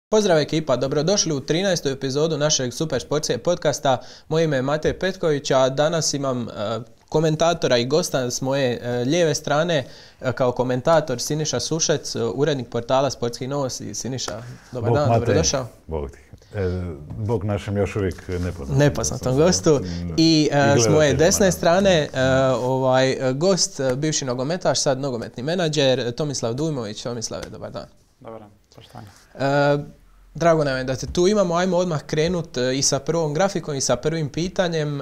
Pozdrav ekipa, dobrodošli u 13. epizodu našeg Super Sportske podcasta. Moje ime je Matej Petković, a danas imam komentatora i gosta s moje lijeve strane kao komentator Siniša Sušec, urednik portala Sportskih novosti. Siniša, dobar dan, dobrodošao. Bog ti. Bog našem još uvijek nepoznatom gostu. I s moje desne strane gost, bivši nogometaš, sad nogometni menadžer, Tomislav Dujmović. Tomislave, dobar dan. Dobar dan, poštovanje. Drago nam je da te tu imamo. Ajmo odmah krenuti i sa prvom grafikom i sa prvim pitanjem.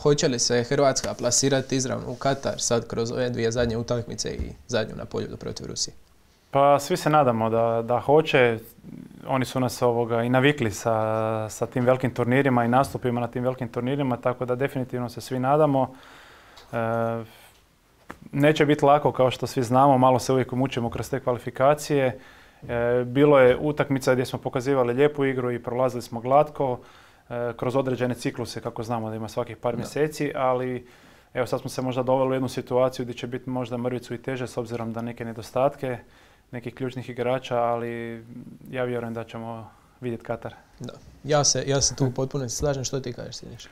Hoće li se Hrvatska plasirati izravno u Katar sad kroz ove dvije zadnje utakmice i zadnju na Poljudu protiv Rusije? Pa svi se nadamo da hoće. Oni su nas i navikli sa tim velikim turnirima i nastupima na tim velikim turnirima, tako da definitivno se svi nadamo. Neće biti lako, kao što svi znamo, malo se uvijek mučimo kroz te kvalifikacije. Bilo je utakmica gdje smo pokazivali lijepu igru i prolazili smo glatko kroz određene cikluse, kako znamo da ima svakih par mjeseci, ali evo sad smo se možda doveli u jednu situaciju gdje će biti možda mrvicu i teže s obzirom da neke nedostatke nekih ključnih igrača, ali ja vjerujem da ćemo vidjeti Katar. Da. Ja se tu potpuno slažem. Što ti kažeš, Siniša?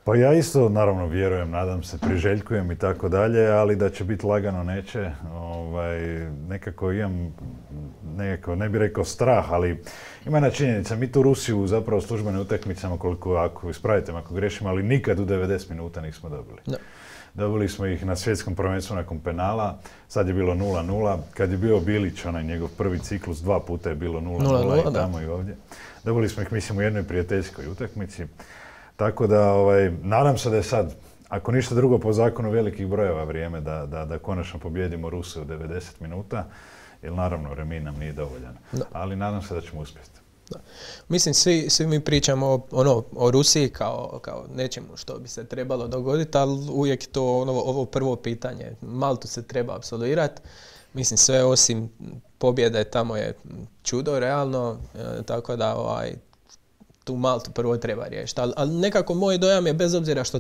Pa ja isto naravno vjerujem, nadam se, priželjkujem i tako dalje, ali da će biti lagano neće. Nekako imam, ne bih rekao strah, ali ima jedna činjenica. Mi tu Rusiju zapravo službene utakmicama, ako ispravite me ako grešim, ali nikad u 90 minuta nismo dobili. Da. Dobili smo ih na svjetskom prvenstvu nakon penala, sad je bilo 0-0. Kad je bio Bilić, onaj njegov prvi ciklus, 2 puta je bilo 0-0 i tamo i ovdje. Dobili smo ih, mislim, u jednoj prijateljskoj utakmici. Tako da, nadam se da je sad, ako ništa drugo po zakonu velikih brojeva, vrijeme da konačno pobijedimo Ruse u 90 minuta, jer naravno remi nam nije dovoljan. Da. Ali nadam se da ćemo uspjeti. Da. Mislim, svi mi pričamo o Rusiji kao nečemu što bi se trebalo dogoditi, ali uvijek je to ovo prvo pitanje. Maltu se treba apsolvirati. Mislim, sve osim pobjede tamo je čudo, realno, tako da tu Maltu prvo treba riješiti. Ali nekako moj dojam je, bez obzira što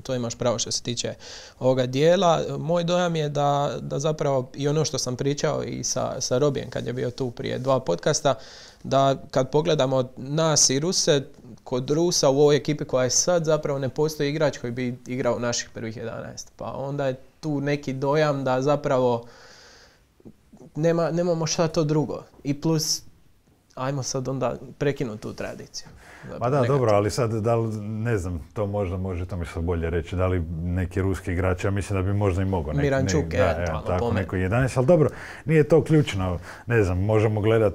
to imaš pravo što se tiče ovoga dijela, moj dojam je da zapravo i ono što sam pričao i sa Robijem kad je bio tu prije 2 podcasta, da kad pogledamo nas i Ruse, kod Rusa u ovoj ekipi koja je sad zapravo ne postoji igrač koji bi igrao u naših prvih 11. Pa onda je tu neki dojam da zapravo nemamo šta to drugo. I plus, ajmo sad onda prekinuti tu tradiciju. Ma da, dobro, ali sad, da li, ne znam, to možda može to mi se bolje reći, da li neki ruski igrač, ja mislim da bi možda i mogao. Mirančuk, tako, neko 11, ali dobro, nije to ključno, ne znam, možemo gledat,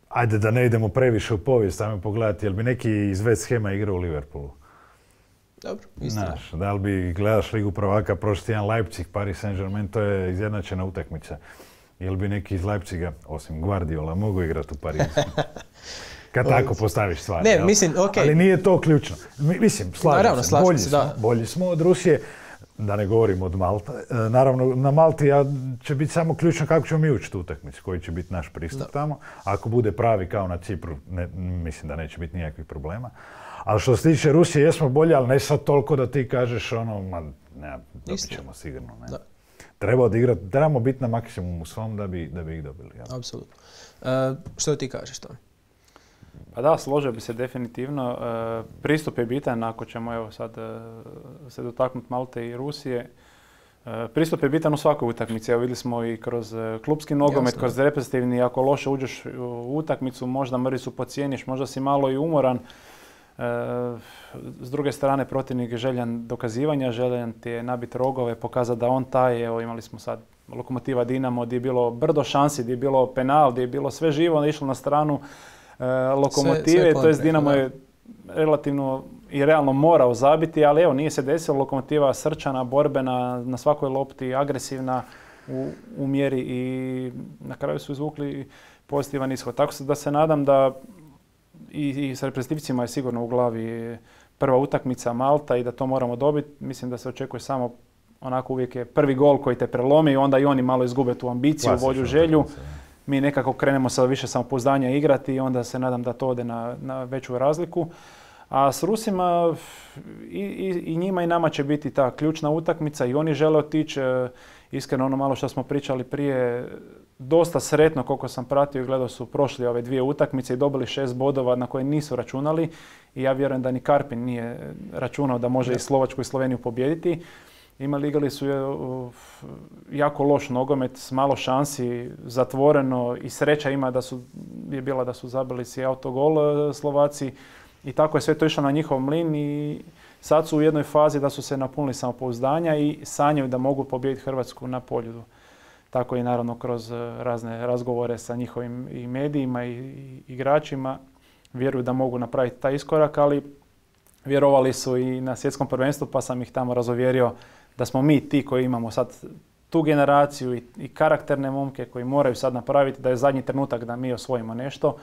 ajde da ne idemo previše u povijest, ajmo pogledati, jel bi neki iz West Hama igrao u Liverpoolu? Dobro, istina. Da li bi gledaš Ligu prvaka, prošli tjedan Leipzig, Paris Saint-Germain, to je izjednačena utakmica. Jel bi neki iz Leipziga, osim Guardiola, mogu igrati u Parizu? Kad tako postaviš stvari. Ne, mislim, okej. Ali nije to ključno. Mislim, slažem se, bolji smo od Rusije, da ne govorimo od Malte. Naravno, na Malti će biti samo ključno kako ćemo mi učiti utakmicu, koji će biti naš pristup tamo. Ako bude pravi kao na Cipru, mislim da neće biti nikakvih problema. Ali što se tiče Rusije, jesmo bolji, ali ne sad toliko da ti kažeš dobit ćemo sigurno. Ne. Da. Treba odigrati, trebamo biti na maksimumu svom da bi ih dobili. Ja. Apsolutno. Što ti kažeš to? Pa da, složio bi se definitivno. Pristup je bitan, ako ćemo evo sad se dotaknuti Malte i Rusije. Pristup je bitan u svakoj utakmici. Evo vidjeli smo i kroz klupski nogomet, kroz reprezentativni. Ako loše uđeš u utakmicu, možda mrvicu pocijeniš, možda si malo i umoran. S druge strane, protivnik je željan dokazivanja, željan ti je nabiti rogove, pokazati da on taj. Evo imali smo sad Lokomotiva Dinamo gdje je bilo brdo šansi, gdje je bilo penal, gdje je bilo sve živo, išlo na stranu Lokomotive, to jest Dinamo je relativno i realno morao zabiti, ali evo nije se desilo. Lokomotiva srčana, borbena, na svakoj lopti, agresivna u mjeri i na kraju su izvukli pozitivan ishod. Tako da se nadam da i s reprezentativcima je sigurno u glavi prva utakmica Malta i da to moramo dobiti. Mislim da se očekuje samo onako, uvijek je prvi gol koji te prelomi i onda i oni malo izgube tu ambiciju, volju, želju. Mi nekako krenemo sa više samopouzdanja igrati i onda se nadam da to ode na veću razliku. A s Rusima i njima i nama će biti ta ključna utakmica i oni žele otići. Iskreno ono malo što smo pričali prije, dosta sretno, koliko sam pratio i gledao, su prošli ove 2 utakmice i dobili 6 bodova na koje nisu računali. I ja vjerujem da ni Karpin nije računao da može i Slovačku i Sloveniju pobijediti. Igrali su jako loš nogomet s malo šansi, zatvoreno, i sreća je bila da su zabili si autogol Slovaci, i tako je sve to išlo na njihov mlin i sad su u jednoj fazi da su se napunili samopouzdanja i sanjaju da mogu pobijediti Hrvatsku na Poljudu. Tako i naravno kroz razne razgovore sa njihovim i medijima i igračima vjeruju da mogu napraviti taj iskorak, ali vjerovali su i na svjetskom prvenstvu, pa sam ih tamo razuvjerio da smo mi ti koji imamo sad tu generaciju i karakterne momke koji moraju sad napraviti, da je zadnji trenutak da mi osvojimo nešto.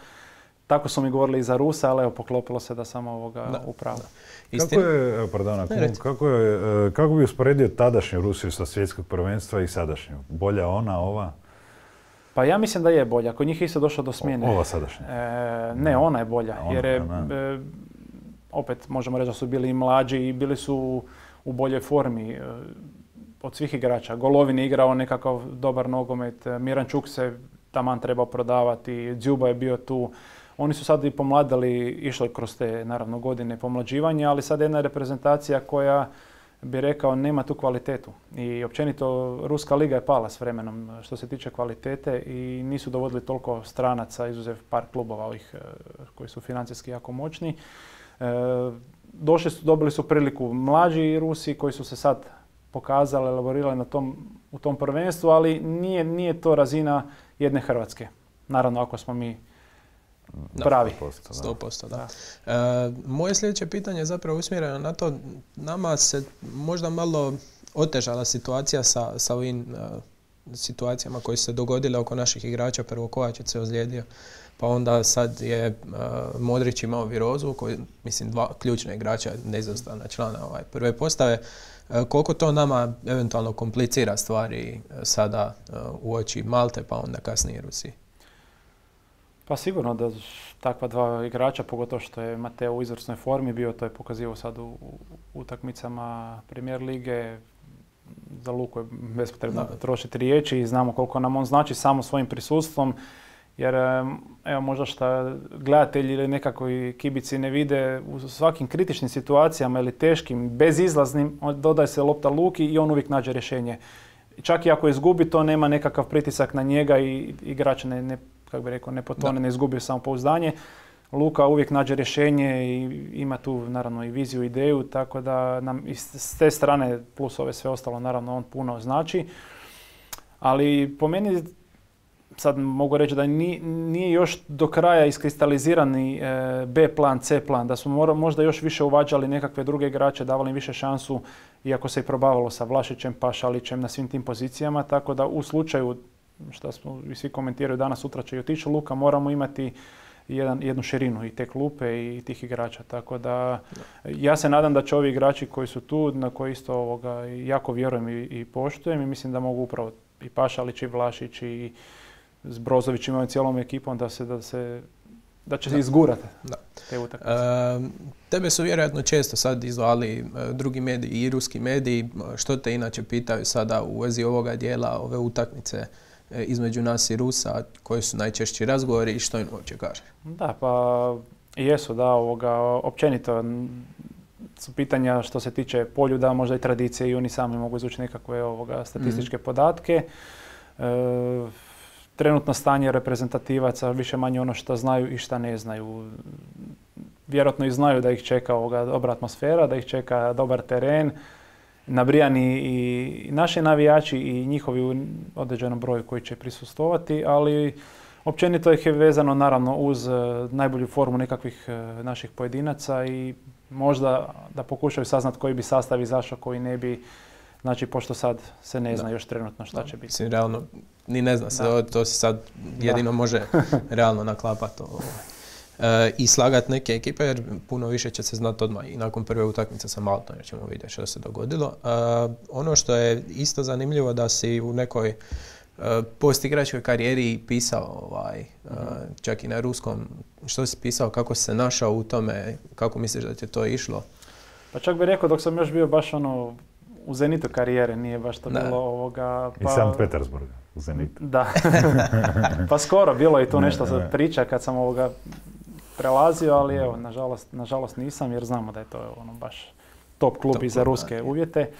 Tako su mi govorili i za Rusa, ali evo, poklopilo se da sam upravo. Kako bi usporedio tadašnju Rusiju sa svjetskog prvenstva i sadašnju? Bolja ona, ova? Pa ja mislim da je bolja. Kod njih je isto došlo do smjene. Ova sadašnja? Ne, ona je bolja. Jer je, opet možemo reći da su bili i mlađi i bili su u boljoj formi od svih igrača. Golovin je igrao nekakav dobar nogomet, Mirančuk se taman trebao prodavati, Džuba je bio tu. Oni su sad i pomladili, išli kroz te naravno godine pomlađivanja, ali sad jedna reprezentacija koja, bi rekao, nema tu kvalitetu. I općenito Ruska liga je pala s vremenom što se tiče kvalitete i nisu dovodili toliko stranaca, izuzev par klubova ovih koji su financijski jako moćni. Dobili su priliku mlađi Rusi koji su se sad pokazali, elaborirali u tom prvenstvu, ali nije to razina jedne Hrvatske. Naravno, ako smo mi pravi. 100%, da. Moje sljedeće pitanje je zapravo usmjereno na to, nama se možda malo otežala situacija sa ovim situacijama koje su se dogodile oko naših igrača. Prvo Kovačić se ozlijedio, pa onda sad je Modrić imao virozu, koji, mislim, 2 ključna igrača, neizostavna člana prve postave. Koliko to nama eventualno komplicira stvari sada uoči Malte, pa onda kasnije Rusiji? Pa sigurno da takva 2 igrača, pogotovo što je Mateo u izvrsnoj formi bio, to je pokazivao sad u utakmicama Premier lige. Za Luku je bespotrebno trošiti riječi i znamo koliko nam on znači samo svojim prisustvom. Jer evo, možda što gledatelji ili nekako i kibici ne vide, u svakim kritičnim situacijama ili teškim, bezizlaznim, dodaje se lopta Luki i on uvijek nađe rješenje. Čak i ako izgubi, to nema nekakav pritisak na njega i igrač kako bi rekao, ne potone, ne izgubi samopouzdanje. Luka uvijek nađe rješenje i ima tu naravno i viziju, ideju, tako da nam s te strane plus ove sve ostalo naravno on puno znači. Ali po meni sad mogu reći da nije još do kraja iskristalizirani B plan, C plan, da smo možda još više uvađali nekakve druge igrače, davali im više šansu, iako se i probavalo sa Vlašićem, Pašalićem na svim tim pozicijama, tako da u slučaju, što smo i svi komentiraju danas, sutra će i otići Luka, moramo imati jednu širinu i te klupe i tih igrača, tako da ja se nadam da će ovi igrači koji su tu, na koje isto jako vjerujem i poštujem i mislim da mogu upravo i Pašalić i Vlašić i s Brozović imaju cijelom ekipom da će se izgurati te utakmice. Tebe su vjerojatno često sad izvali drugi mediji i ruski mediji. Što te inače pitaju sada u vezi ovoga dijela, ove utakmice između nas i Rusa, koji su najčešći razgovori i što im uopće kaže? Da, pa jesu, da, općenito su pitanja što se tiče Poljuda, možda i tradicije i oni sami mogu izvući nekakve statističke podatke. Trenutno stanje reprezentativaca, više manje ono što znaju i što ne znaju. Vjerojatno i znaju da ih čeka dobra atmosfera, da ih čeka dobar teren, nabrijani i naši navijači i njihovi u određenom broju koji će prisustvovati, ali općenito ih je vezano naravno uz najbolju formu nekakvih naših pojedinaca i možda da pokušaju saznati koji bi sastav izašao, koji ne bi. Znači, pošto sad se ne zna još trenutno šta će biti. Mislim, realno, ni ne zna se, to se sad jedino može realno naklapati i slagati neke ekipe, jer puno više će se znati odmah i nakon prve utakmice sa Maltom, jer ćemo vidjeti što se dogodilo. Ono što je isto zanimljivo da si u nekoj postigračkoj karijeri pisao, čak i na ruskom, što si pisao, kako si se našao u tome, kako misliš da ti je to išlo? Pa čak bih rekao dok sam još bio baš u zenitu karijere, nije baš to bilo ovoga... I Sankt Petersburga, u zenitu. Da. Pa skoro, bilo je tu nešto priča kad sam prelazio, ali evo, nažalost nisam, jer znamo da je to baš top klub i za ruske uvjete.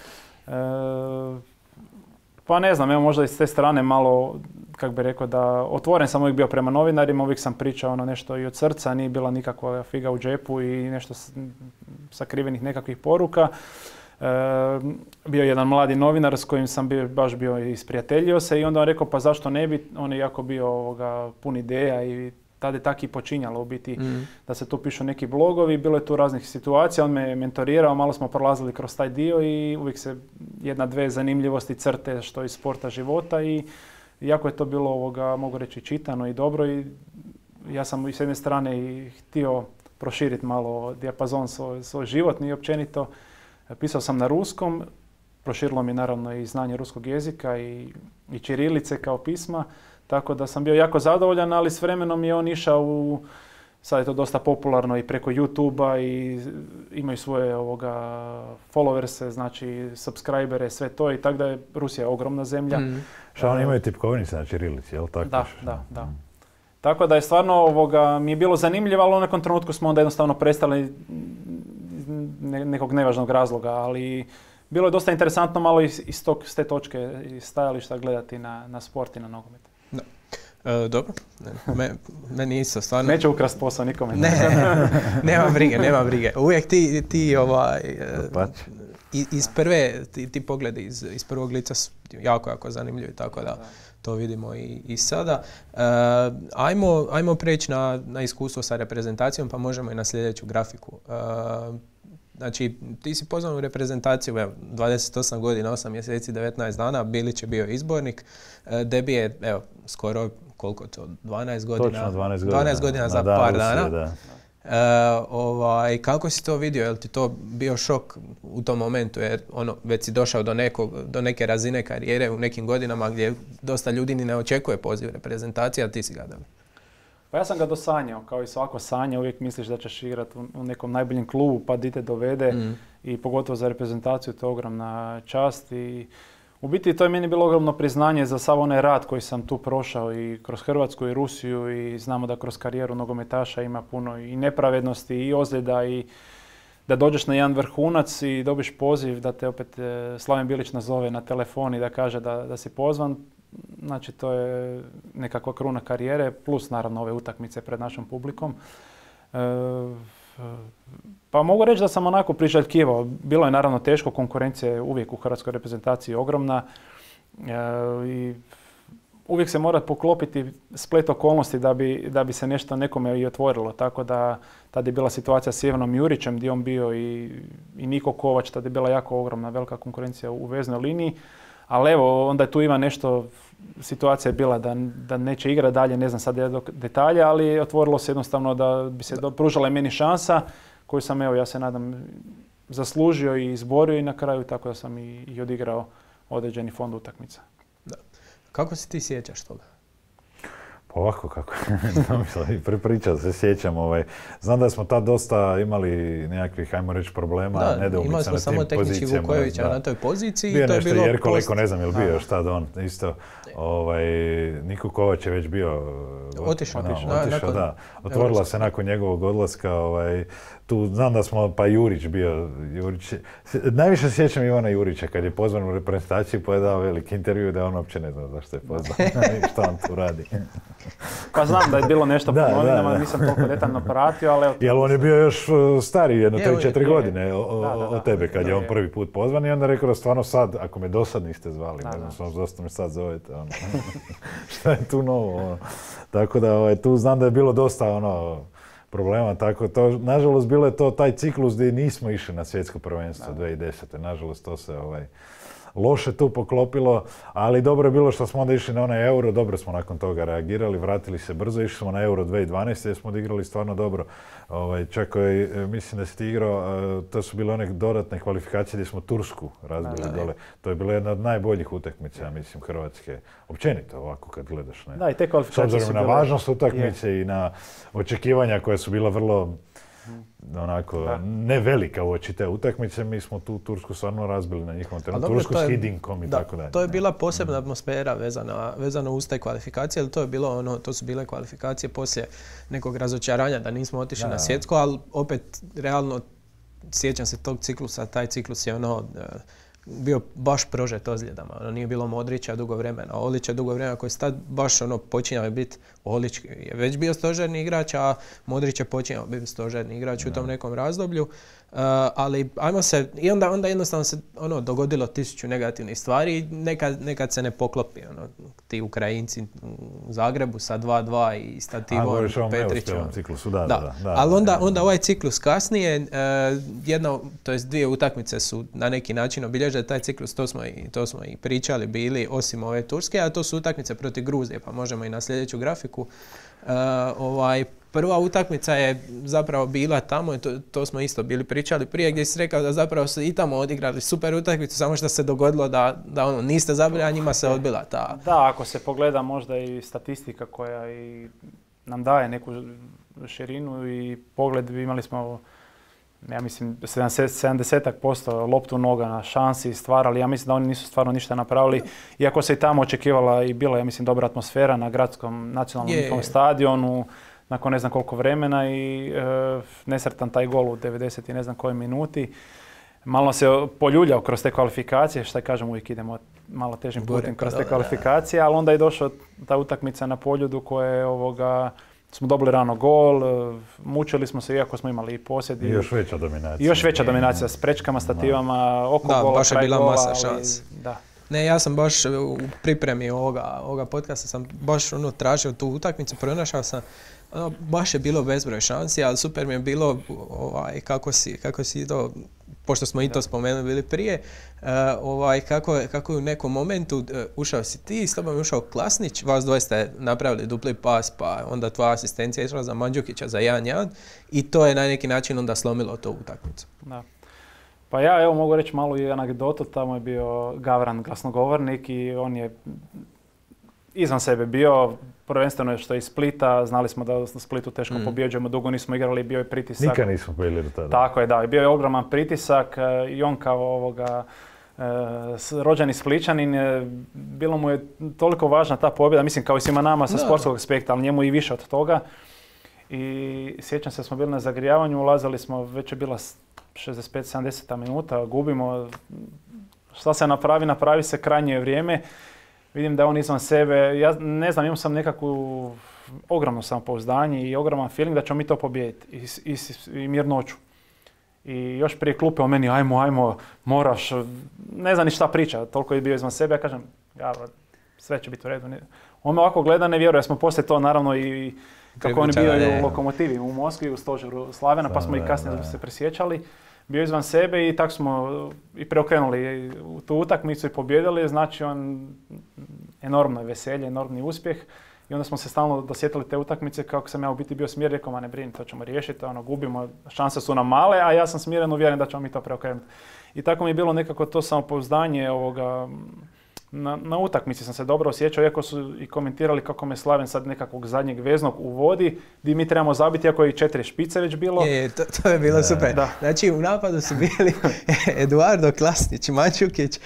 Pa ne znam, evo možda i s te strane malo, kako bi rekao, da otvoren sam uvijek bio prema novinarima, uvijek sam pričao nešto i od srca, nije bila nikakva figa u džepu i nešto sakrivenih nekakvih poruka. Bio jedan mladi novinar s kojim sam baš bio isprijateljio se i onda on rekao pa zašto ne bi, on je jako bio pun ideja i tada je tako i počinjalo u biti da se tu pišu neki blogovi, bilo je tu raznih situacija, on me mentorirao, malo smo prolazili kroz taj dio i uvijek se dvije zanimljivosti crte što iz sporta života i jako je to bilo mogu reći čitano i dobro i ja sam s jedne strane i htio proširiti malo dijapazon svoj životni i općenito. Pisao sam na ruskom, proširilo mi naravno i znanje ruskog jezika i ćirilice kao pisma, tako da sam bio jako zadovoljan, ali s vremenom je on išao sad je to dosta popularno i preko YouTube-a i imaju svoje followerse, znači subscribere, sve to i tako da je Rusija ogromna zemlja. Šta oni imaju tipkovnice na ćirilici, jel tako? Da. Tako da je stvarno mi je bilo zanimljivo, ali u nekom trenutku smo onda jednostavno prestali nekog nevažnog razloga, ali bilo je dosta interesantno malo s te točke i stajališta gledati na sport i na nogomet. Dobro, meni isto stvarno... Neću ukrast posao nikome. Nema brige. Uvijek ti iz prve, ti pogledi iz prvog lica su jako zanimljivi, tako da to vidimo i sada. Ajmo preći na iskustvo sa reprezentacijom, pa možemo i na sljedeću grafiku. Znači, ti si pozvan u reprezentaciju, 28 godina, 8 mjeseci, 19 dana, Bilić je bio izbornik. Debi je, skoro, koliko to, 12 godina? Točno 12 godina. Za par dana. Kako si to vidio? Je li ti to bio šok u tom momentu? Jer već si došao do neke razine karijere u nekim godinama gdje dosta ljudi ni ne očekuje poziv reprezentacije, a ti si ga dobio. Pa ja sam ga dosanjao, kao i svako sanja, uvijek misliš da ćeš igrati u nekom najboljem klubu pa di te dovede i pogotovo za reprezentaciju to je ogromna čast i u biti to je meni bilo ogromno priznanje za sav onaj rad koji sam tu prošao i kroz Hrvatsku i Rusiju i znamo da kroz karijeru nogometaša ima puno i nepravednosti i ozljeda i da dođeš na jedan vrhunac i dobiš poziv da te opet Slaven Bilić nazove na telefon i da kaže da si pozvan. Znači to je nekakva kruna karijere plus naravno ove utakmice pred našom publikom. Pa mogu reći da sam onako priželjkivao. Bilo je naravno teško, konkurencija je uvijek u hrvatskoj reprezentaciji ogromna i uvijek se mora poklopiti splet okolnosti da bi se nešto nekome i otvorilo. Tako da tada je bila situacija s Ivanom Jurićem gdje on bio i Niko Kovač, tada je bila jako ogromna velika konkurencija u veznoj liniji. Ali evo, onda je tu ima nešto, situacija je bila da neće igrati dalje, ne znam sad detalje, ali otvorilo se jednostavno da bi se pružala i meni šansa koju sam, ja se nadam, zaslužio i izborio i na kraju tako da sam i odigrao određeni fond utakmica. Da. Kako se ti sjećaš toga? Pa ovako kako, prepričat se sjećam. Znam da smo tad dosta imali nekakvih, ajmo reći, problema, nedoumica imali smo samo tehnički Vukojevića na toj poziciji. Bio nešto Jerko Leko, ne znam je li bio još tad on isto. Niko Kovač je već bio otišao, da. Otvorila se nakon njegovog odlaska. Tu znam da smo, pa Jurić bio. Najviše sjećam Ivana Jurića kad je pozvan u reprezentaciju pa je dao veliki intervju da on uopće ne zna zašto je pozvan i što on tu radi. Pa znam da je bilo nešto po novinama, nisam toliko detaljno pratio, ali... Jer on je bio još stariji, jedno 3-4 godine od tebe kad je on prvi put pozvan i onda rekao da stvarno sad, ako me do sad niste zvali, ne znam, zašto me sad zovete, šta je tu novo, Tako da tu znam da je bilo dosta problema, tako to, nažalost bilo je to taj ciklus gdje nismo išli na svjetsko prvenstvo 2010. Nažalost to se loše tu poklopilo, ali dobro je bilo što smo onda išli na onaj Euro, dobro smo nakon toga reagirali, vratili se brzo, išli smo na Euro 2012. gdje smo odigrali stvarno dobro. Čak mislim da si ti igrao, to su bile one dodatne kvalifikacije gdje smo Tursku razbili dole. To je bila jedna od najboljih utakmica, mislim, Hrvatske. Općenito ovako kad gledaš. Ne? Da, i te kvalifikacije s obzirom na važnost utakmice i na očekivanja koja su bila vrlo onako ne velika uoči te utakmice, mi smo tu Tursku stvarno razbili na njihovom terenu. Tursku s Hidinkom i tako dalje. To je bila posebna atmosfera vezana uz te kvalifikacije, ali to su bile kvalifikacije poslije nekog razočaranja da nismo otišli na svjetsko, ali opet realno sjećam se tog ciklusa, taj ciklus je bio baš prožet ozljedama. Nije bilo Modrića dugo vremena. Olić je dugo vremena koji je tad baš počinjao biti, Olić je već bio stožerni igrač, a Modrić je počinjao biti stožerni igrač u tom nekom razdoblju. Ali ajmo se, i onda jednostavno se dogodilo 1000 negativnih stvari i nekad se ne poklopi. Ti Ukrajinci u Zagrebu sa 2-2 i Stativom, Petrićom. Da. Ali onda ovaj ciklus kasnije, dvije utakmice su na neki način obilježile taj ciklus, to smo i pričali bili, osim ove Turske, a to su utakmice protiv Gruzije, pa možemo i na sljedeću grafiku. Prva utakmica je zapravo bila tamo, i to smo isto bili pričali prije, gdje si rekao da zapravo su i tamo odigrali super utakmicu, samo što se dogodilo da niste zabili, a njima se odbila ta... Da, ako se pogleda možda i statistika koja i nam daje neku širinu i pogled, imali smo, ja mislim, 70% loptu noga na šansi stvarali, ja mislim da oni nisu stvarno ništa napravili, iako se i tamo očekivala i bila, ja mislim, dobra atmosfera na gradskom nacionalnom stadionu, nakon ne znam koliko vremena i nesretan taj gol u 90 i ne znam kojoj minuti. Malo se poljuljao kroz te kvalifikacije, što kažem, uvijek idemo malo težim putem kroz te kvalifikacije, ali onda je došla ta utakmica na Poljudu koje smo dobili rano gol, mučili smo se iako smo imali i posjed. I još veća dominacija. I još veća dominacija s prečkama, stativama, oko gola, baš je kraj bila gola. Masa šans. Da. Ne, ja sam baš u pripremi ovoga podcasta sam baš tražio tu utakmicu, pronašao sam, baš je bilo bezbroj šansi, ali super mi je bilo kako si to, pošto smo i to spomenuli bili prije, kako je u nekom momentu ušao si ti, s tobom je ušao Klasnić, vas dvoje ste napravili dupli pas, pa onda tvoja asistencija išla za Mandžukića za 1-1 i to je na neki način onda slomilo tu utakmicu. Da. Pa ja evo mogu reći malu i anegdotu, tamo je bio Gavran glasnogovornik i on je izvan sebe bio, prvenstveno što je iz Splita, znali smo da u Splitu teško pobjeđujemo, dugo nismo igrali, bio je pritisak. Nikad nismo pobjedili do tada. Tako je, da, bio je ogroman pritisak i on kao rođeni Spličanin, bilo mu je toliko važna ta pobjeda, mislim kao i svima nama sa sportskog aspekta, ali njemu i više od toga. I sjećam se, smo bili na zagrijavanju, ulazili smo, već je bila 65-70 minuta, gubimo, šta se napravi se, krajnje vrijeme. Vidim da je on izvan sebe, ja ne znam, imam sam nekakvu ogromno samopouzdanje i ogroman feeling da ćemo mi to pobijediti i mirnoću. I još prije klupe o meni, ajmo, moraš, ne znam ni šta priča, toliko je bio izvan sebe, ja kažem, sve će biti u redu. On me ovako gleda, ne vjeruje, ja smo poslije to naravno i kako on je bio i u Lokomotivi u Moskvi, u stožeru Slavena, pa smo i kasnije se presjećali. Bio izvan sebe i tako smo i preokrenuli u tu utakmicu i pobjedili, znači enormno je veselje, enormni uspjeh. I onda smo se stalno dosjetili te utakmice kako sam ja u biti bio smiren, rekao, ma ne brini, to ćemo riješiti, gubimo, šanse su nam male, a ja sam smiren, uvjeren da ćemo mi to preokrenuti. I tako mi je bilo nekako to samopouzdanje na utakmici sam se dobro osjećao, iako su i komentirali kako me Slaven sad nekakvog zadnjeg veznog uvodi, gdje mi trebamo zabiti, iako je i 4 špice već bilo. To je bilo super. Da. Znači u napadu su bili Eduardo, Klasnić, Mandžukić,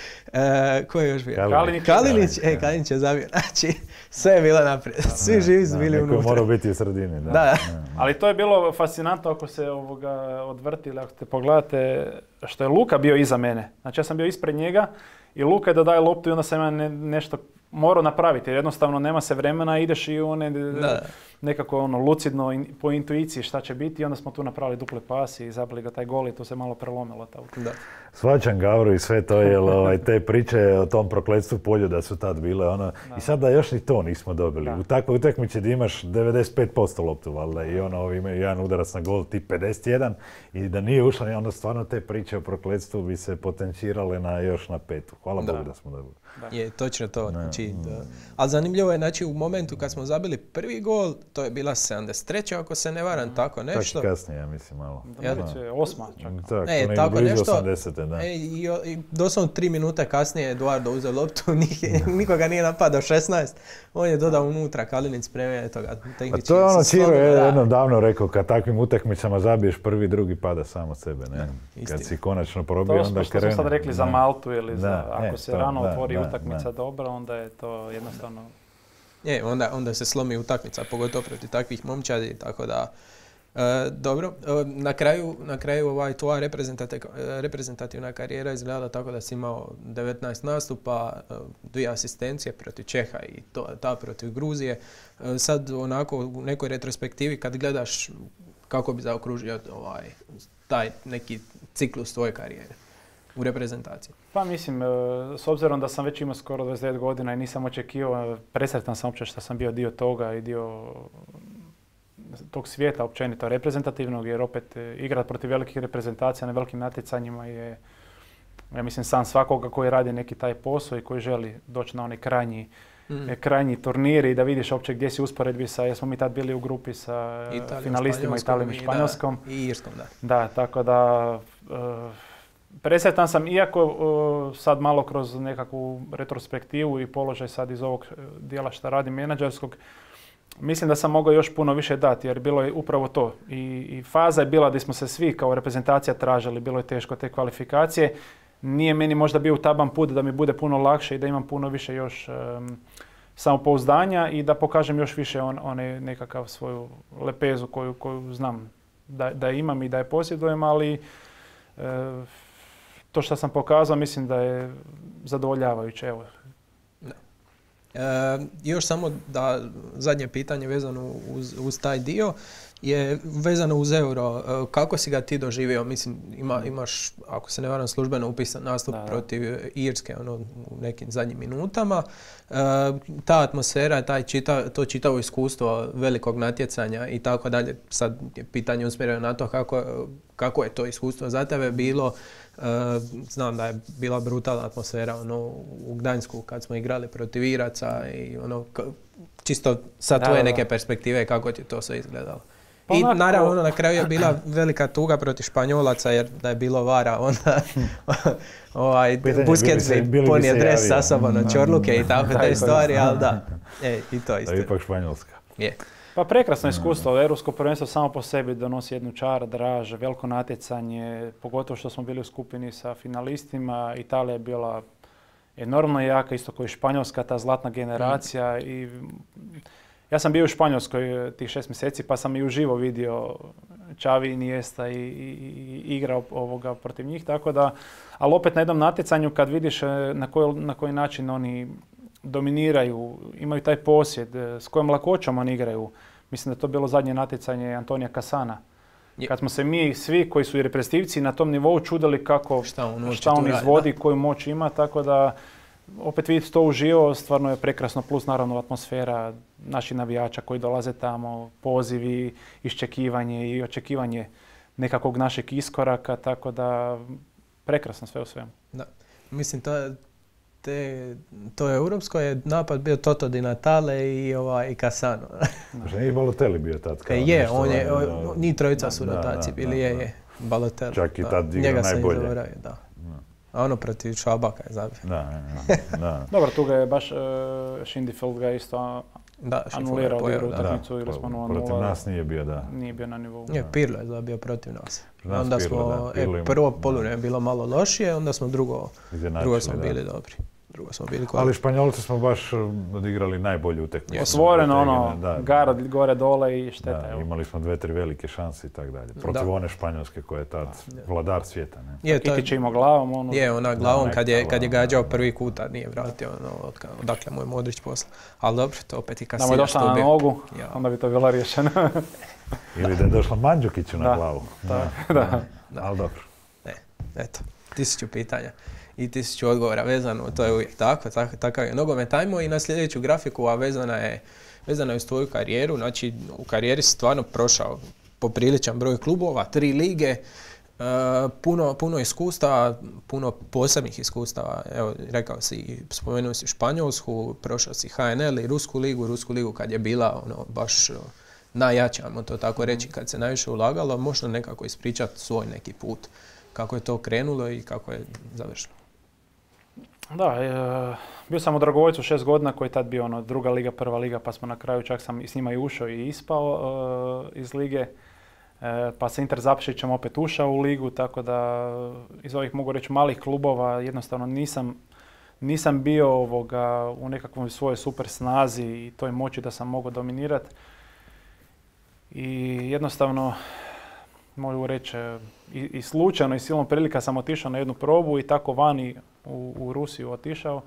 ko je još bio? Kalinić. Kalinić je zabio. Znači sve je bilo naprijed. Svi živi su bili unutra. Neko mora biti u sredini. Da. Ali to je bilo fascinantno ako se odvrti ili ako te pogledate što je Luka bio iza mene. Znači ja sam bio ispred njega i Luka je da daje loptu i onda sam ja nešto morao napraviti. Jednostavno nema se vremena, ideš i nekako lucidno po intuiciji šta će biti i onda smo tu napravili dupli pas i zabili ga taj gol i to se malo prelomilo. Svačam Gavru i sve to, jer te priče o tom prokletstvu Poljuda su tad bile. I sad da još ni to nismo dobili. U takvoj utakmici gdje imaš 95% loptu, valjda, i imaju jedan udarac na gol, ti 51, i da nije ušla, onda stvarno te priče o prokletstvu bi se potencirale još na 5. Hvala Bogu da smo dobili. Je, točno to. Znači, ali zanimljivo je, znači, u momentu kad smo zabili prvi gol, to je bila 73. ako se ne varam, tako nešto. Tako kasnije, ja mislim, malo. Da, bit će 8. čak. Tako nešto. 80. Da. I doslovno 3 minute kasnije Eduardo uzeo loptu, nikoga nije napadao 16. On je dodao unutra, Kalinic spremio toga. A to je ono Čiro je jednom davno rekao, kad takvim utakmicama zabiješ prvi, drugi pada sam od sebe. Ne? Kad si konačno probio, onda krene. To smo sad rekli za Maltu ili ako se rano da, otvori utakmica dobro, onda je to jednostavno... Onda se slomi utakmica, pogotovo protiv takvih momčadi, tako da... Dobro, na kraju tvoja reprezentativna karijera izgledala tako da si imao 19 nastupa, 2 asistencije protiv Čeha i ta protiv Gruzije. Sad onako u nekoj retrospektivi kad gledaš kako bi zaokružio taj neki ciklus tvoje karijere u reprezentaciji. Pa mislim, s obzirom da sam već imao skoro 29 godina i nisam očekivao, presretan sam uopće što sam bio dio toga i dio tog svijeta općenito reprezentativnog, jer opet igrat protiv velikih reprezentacija na velikim natjecanjima je, ja mislim, san svakoga koji radi neki taj posao i koji želi doći na onaj krajnji turnir i da vidiš uopće gdje si usporedbi sa, jer smo mi tad bili u grupi sa finalistima Italijom i Španjolskom. I Irskom, da. Da, tako da presretan sam, iako sad malo kroz nekakvu retrospektivu i položaj sad iz ovog dijela što radim menadžerskog, mislim da sam mogao još puno više dati, jer bilo je upravo to. I faza je bila da smo se svi kao reprezentacija tražili, bilo je teško te kvalifikacije. Nije meni možda bio taban put da mi bude puno lakše i da imam puno više još samopouzdanja i da pokažem još više nekakav svoju lepezu koju znam da imam i da je posjedujem, ali to što sam pokazao mislim da je zadovoljavajuće. Evo. Još samo da zadnje pitanje vezano uz taj dio je vezano uz Euro. Kako si ga ti doživio? Mislim, imaš, ako se ne varam, službeno upisan nastup protiv Irske u nekim zadnjim minutama. Ta atmosfera, to čitavo iskustvo velikog natjecanja i tako dalje. Sad je pitanje usmjereno na to kako je to iskustvo za tebe bilo. Znam da je bila brutalna atmosfera u Gdańsku kad smo igrali protiv Iraca i čisto sa tvoje neke perspektive kako ti to sve izgledalo. I naravno na kraju je bila velika tuga protiv Španjolaca jer da je bilo vara onda Busquets bi ponio dres sa sobom na čorluke i tako te stvari, ali da, i to isto. To je ipak Španjolska. Pa prekrasno iskustvo, Europsko prvenstvo samo po sebi donosi jednu čar, draž, veliko natjecanje, pogotovo što smo bili u skupini sa finalistima. Italija je bila enormno jaka, isto kao i Španjolska, ta zlatna generacija. I ja sam bio u Španjolskoj tih 6 mjeseci pa sam i uživo vidio Xavi, Iniesta i igrao protiv njih, tako da, ali opet na jednom natjecanju kad vidiš na koji način oni dominiraju, imaju taj posjed, s kojom lakoćom oni igraju. Mislim da je to bilo zadnje natjecanje Antonija Cassana. Kad smo se mi svi koji su i reprezentativci na tom nivou čudili šta on izvodi, koju moć ima, tako da opet vidjeti to uživo, stvarno je prekrasno, plus naravno atmosfera naših navijača koji dolaze tamo, pozivi, iščekivanje i očekivanje nekakvog našeg iskoraka, tako da prekrasno sve u svemu. Da. Mislim, to europsko je napad bio Toto Di Natale i Cassano. Možda nije Balotelli bio tad? Njih trojica su rotaciji bili, je Balotelli. Čak i tad igra najbolje. A ono protiv Švabaka je zabio. Da. Dobro, tu ga je baš Schindefeld ga isto anulirao u utakmicu ili smo 0-0. Protiv nas nije bio, da. Nije bio na nivou. Pirlo je zabio protiv nas. Onda smo, prvo poluvrijeme bilo malo lošije, onda smo drugo smo bili dobri. Ali Španjolci smo baš odigrali najbolju utakmicu. Osvoreno garad gore dole i šteta. Imali smo 2-3 velike šanse i tako dalje. Protiv one Španjolske koja je tad vladar svijeta. Kitić je imao glavom. Ona glavom kad je gađao prvi kuta nije vratio odakle mu je Modrić posla. Ali dobro, to opet i Casillas. Da mu je došla na nogu, onda bi to bilo rješeno. Ili da je došla Mandžukiću na glavu. Ali dobro. Eto, 1000 pitanja i 1000 odgovora vezano, to je uvijek takav je nogomet. Ajmo i na sljedeću grafiku, a vezana je uz tvoju karijeru. Znači, u karijeri si stvarno prošao popriličan broj klubova, 3 lige, puno iskustava, puno posebnih iskustava. Evo, rekao si, spomenuo si Španjolsku, prošao si HNL i Rusku ligu kad je bila baš najjače, ajmo to tako reći, kad se najviše ulagalo, možda nekako ispričati svoj neki put, kako je to krenulo i kako je završilo. Da, bio sam u Dragovoljcu 6 godina koji je tad bio druga liga, prva liga, pa smo na kraju čak sam i s njima i ušao i ispao iz lige. Pa sa Inter Zaprešićem opet ušao u ligu, tako da iz ovih mogu reći malih klubova jednostavno nisam bio u nekakvoj svojoj super snazi i toj moći da sam mogao dominirati. I jednostavno mogu reći i slučajno i silom prilika sam otišao na jednu probu i tako vani u Rusiju otišao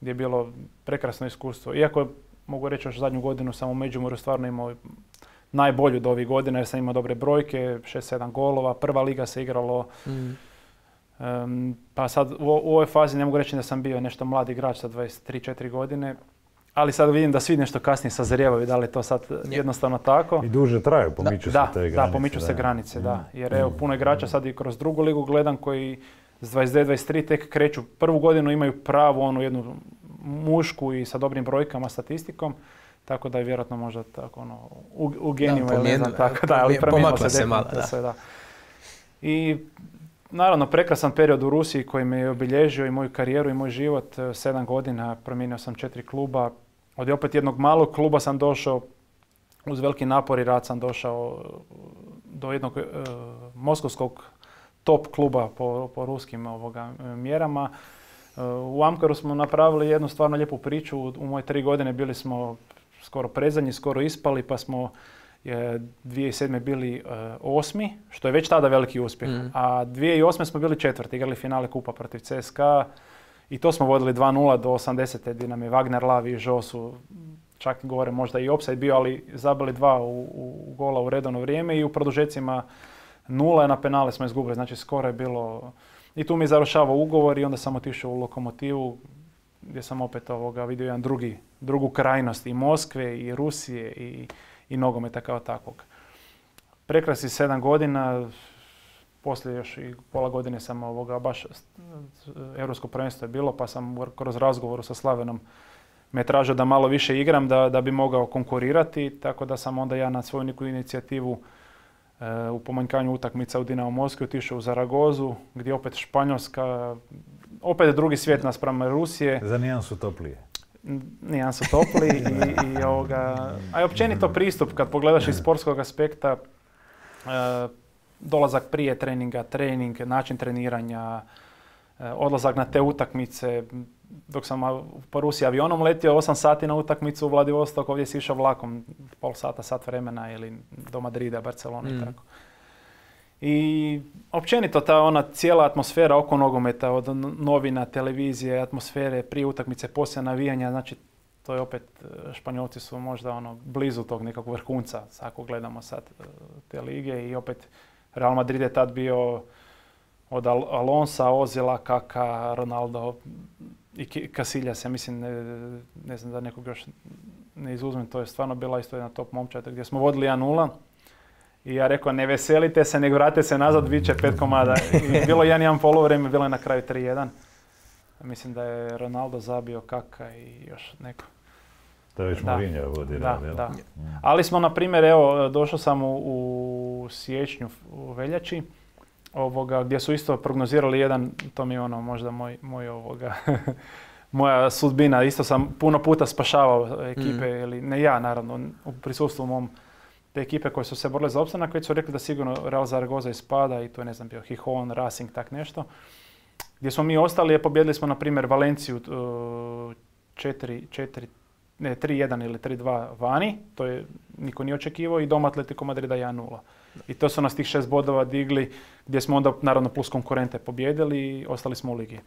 gdje je bilo prekrasno iskustvo. Iako mogu reći još zadnju godinu sam u Međimurju stvarno imao najbolju do ovih godina jer sam imao dobre brojke, 6-7 golova, prva liga se igralo. Pa sad u ovoj fazi ne mogu reći da sam bio nešto mladi igrač sa 23-4 godine, ali sad vidim da svi nešto kasnije sazrijevaju, da li je to sad jednostavno tako. I duže traju, pomiču se te granice. Da, pomiču se granice, da. Jer evo, puno igrača sad i kroz drugu ligu gledam koji s 22-23 tek kreću. Prvu godinu imaju pravu jednu mušku i sa dobrim brojkama, statistikom. Tako da je vjerojatno možda tako u geniju, ne znam tako, da, ali promijenilo se definitivno sve, da. I naravno prekrasan period u Rusiji koji me je obilježio i moju karijeru i moj život. 7 godina, promijenio sam 4 kluba. Od opet jednog malog kluba sam došao, uz veliki napor i rad sam došao do jednog moskovskog top kluba po ruskim mjerama. U Amkaru smo napravili jednu stvarno lijepu priču. U moje 3 godine bili smo skoro predzadnji, skoro ispali, pa smo 2007. bili 8. što je već tada veliki uspjeh. A 2008. smo bili 4. igrali finale kupa protiv CSKA i to smo vodili 2-0 do 80. gdje nam je Wagner, Lavi i Žo su čak gore možda i offside bio, ali zabili 2 u gola u redovno vrijeme i u produžecima 0 na penale smo izgubili, znači skoro je bilo. I tu mi je završavao ugovor i onda sam otišao u Lokomotivu gdje sam opet vidio jedan drugu krajnost i Moskve i Rusije i nogometa kao takvog. Prekrasnih 7 godina, poslije još i pola godine sam baš Europsko prvenstvo je bilo, pa sam kroz razgovoru sa Slavenom me tražio da malo više igram da bi mogao konkurirati, tako da sam onda ja na svoju neku inicijativu u pomanjkanju utakmica u Dinamo Moskvi otišao u Zaragozu, gdje opet Španjolska, opet drugi svijet naspram Rusije. Za nijansu toplije. Nijansu topliji a i općenito pristup kad pogledaš iz sportskog aspekta, dolazak prije treninga, trening, način treniranja, odlazak na te utakmice. Dok sam po Rusiji avionom letio 8 sati na utakmicu u Vladivostok, ovdje si išao vlakom pol sata, sat vremena ili do Madrida, Barcelona i tako. I općenito ta cijela atmosfera oko nogometa, od novina, televizije, atmosfere, prije utakmice, poslije navijanja, znači to je opet, Španjolci su možda blizu tog nekog vrhunca, ako gledamo sad te lige i opet Real Madrid je tad bio od Alonsa, Ozila, Kaka, Ronaldo i Casillas, ja mislim, ne znam da nekog još ne izuzmem, to je stvarno bila isto jedna top momčad gdje smo vodili 1-0 i ja rekao ne veselite se, nego vratite se nazad, bit će 5 komada. I bilo 1-1 polovreme, bilo je na kraju 3-1. Mislim da je Ronaldo zabio, Kaka i još neko. To je već Mourinho vodi rad, jel? Da. Ali smo, na primjer, evo, došao sam u siječnju, u veljači, gdje su isto prognozirali jedan, to mi je možda moja sudbina. Isto sam puno puta spašavao ekipe, ili ne ja naravno, u prisustvu mom te ekipe koje su se borile za opstanak, koji su rekli da sigurno Real Zaragoza ispada i to je, ne znam, bio Gijón, Racing, tak nešto. Gdje smo mi ostali, pobjedili smo, na primjer, Valenciju 3-1 ili 3-2 vani, to je niko nije očekivao, i doma Atletico Madrida 1-0. I to su nas tih 6 bodova digli, gdje smo onda, naravno, plus konkurente pobjedili i ostali smo u ligi.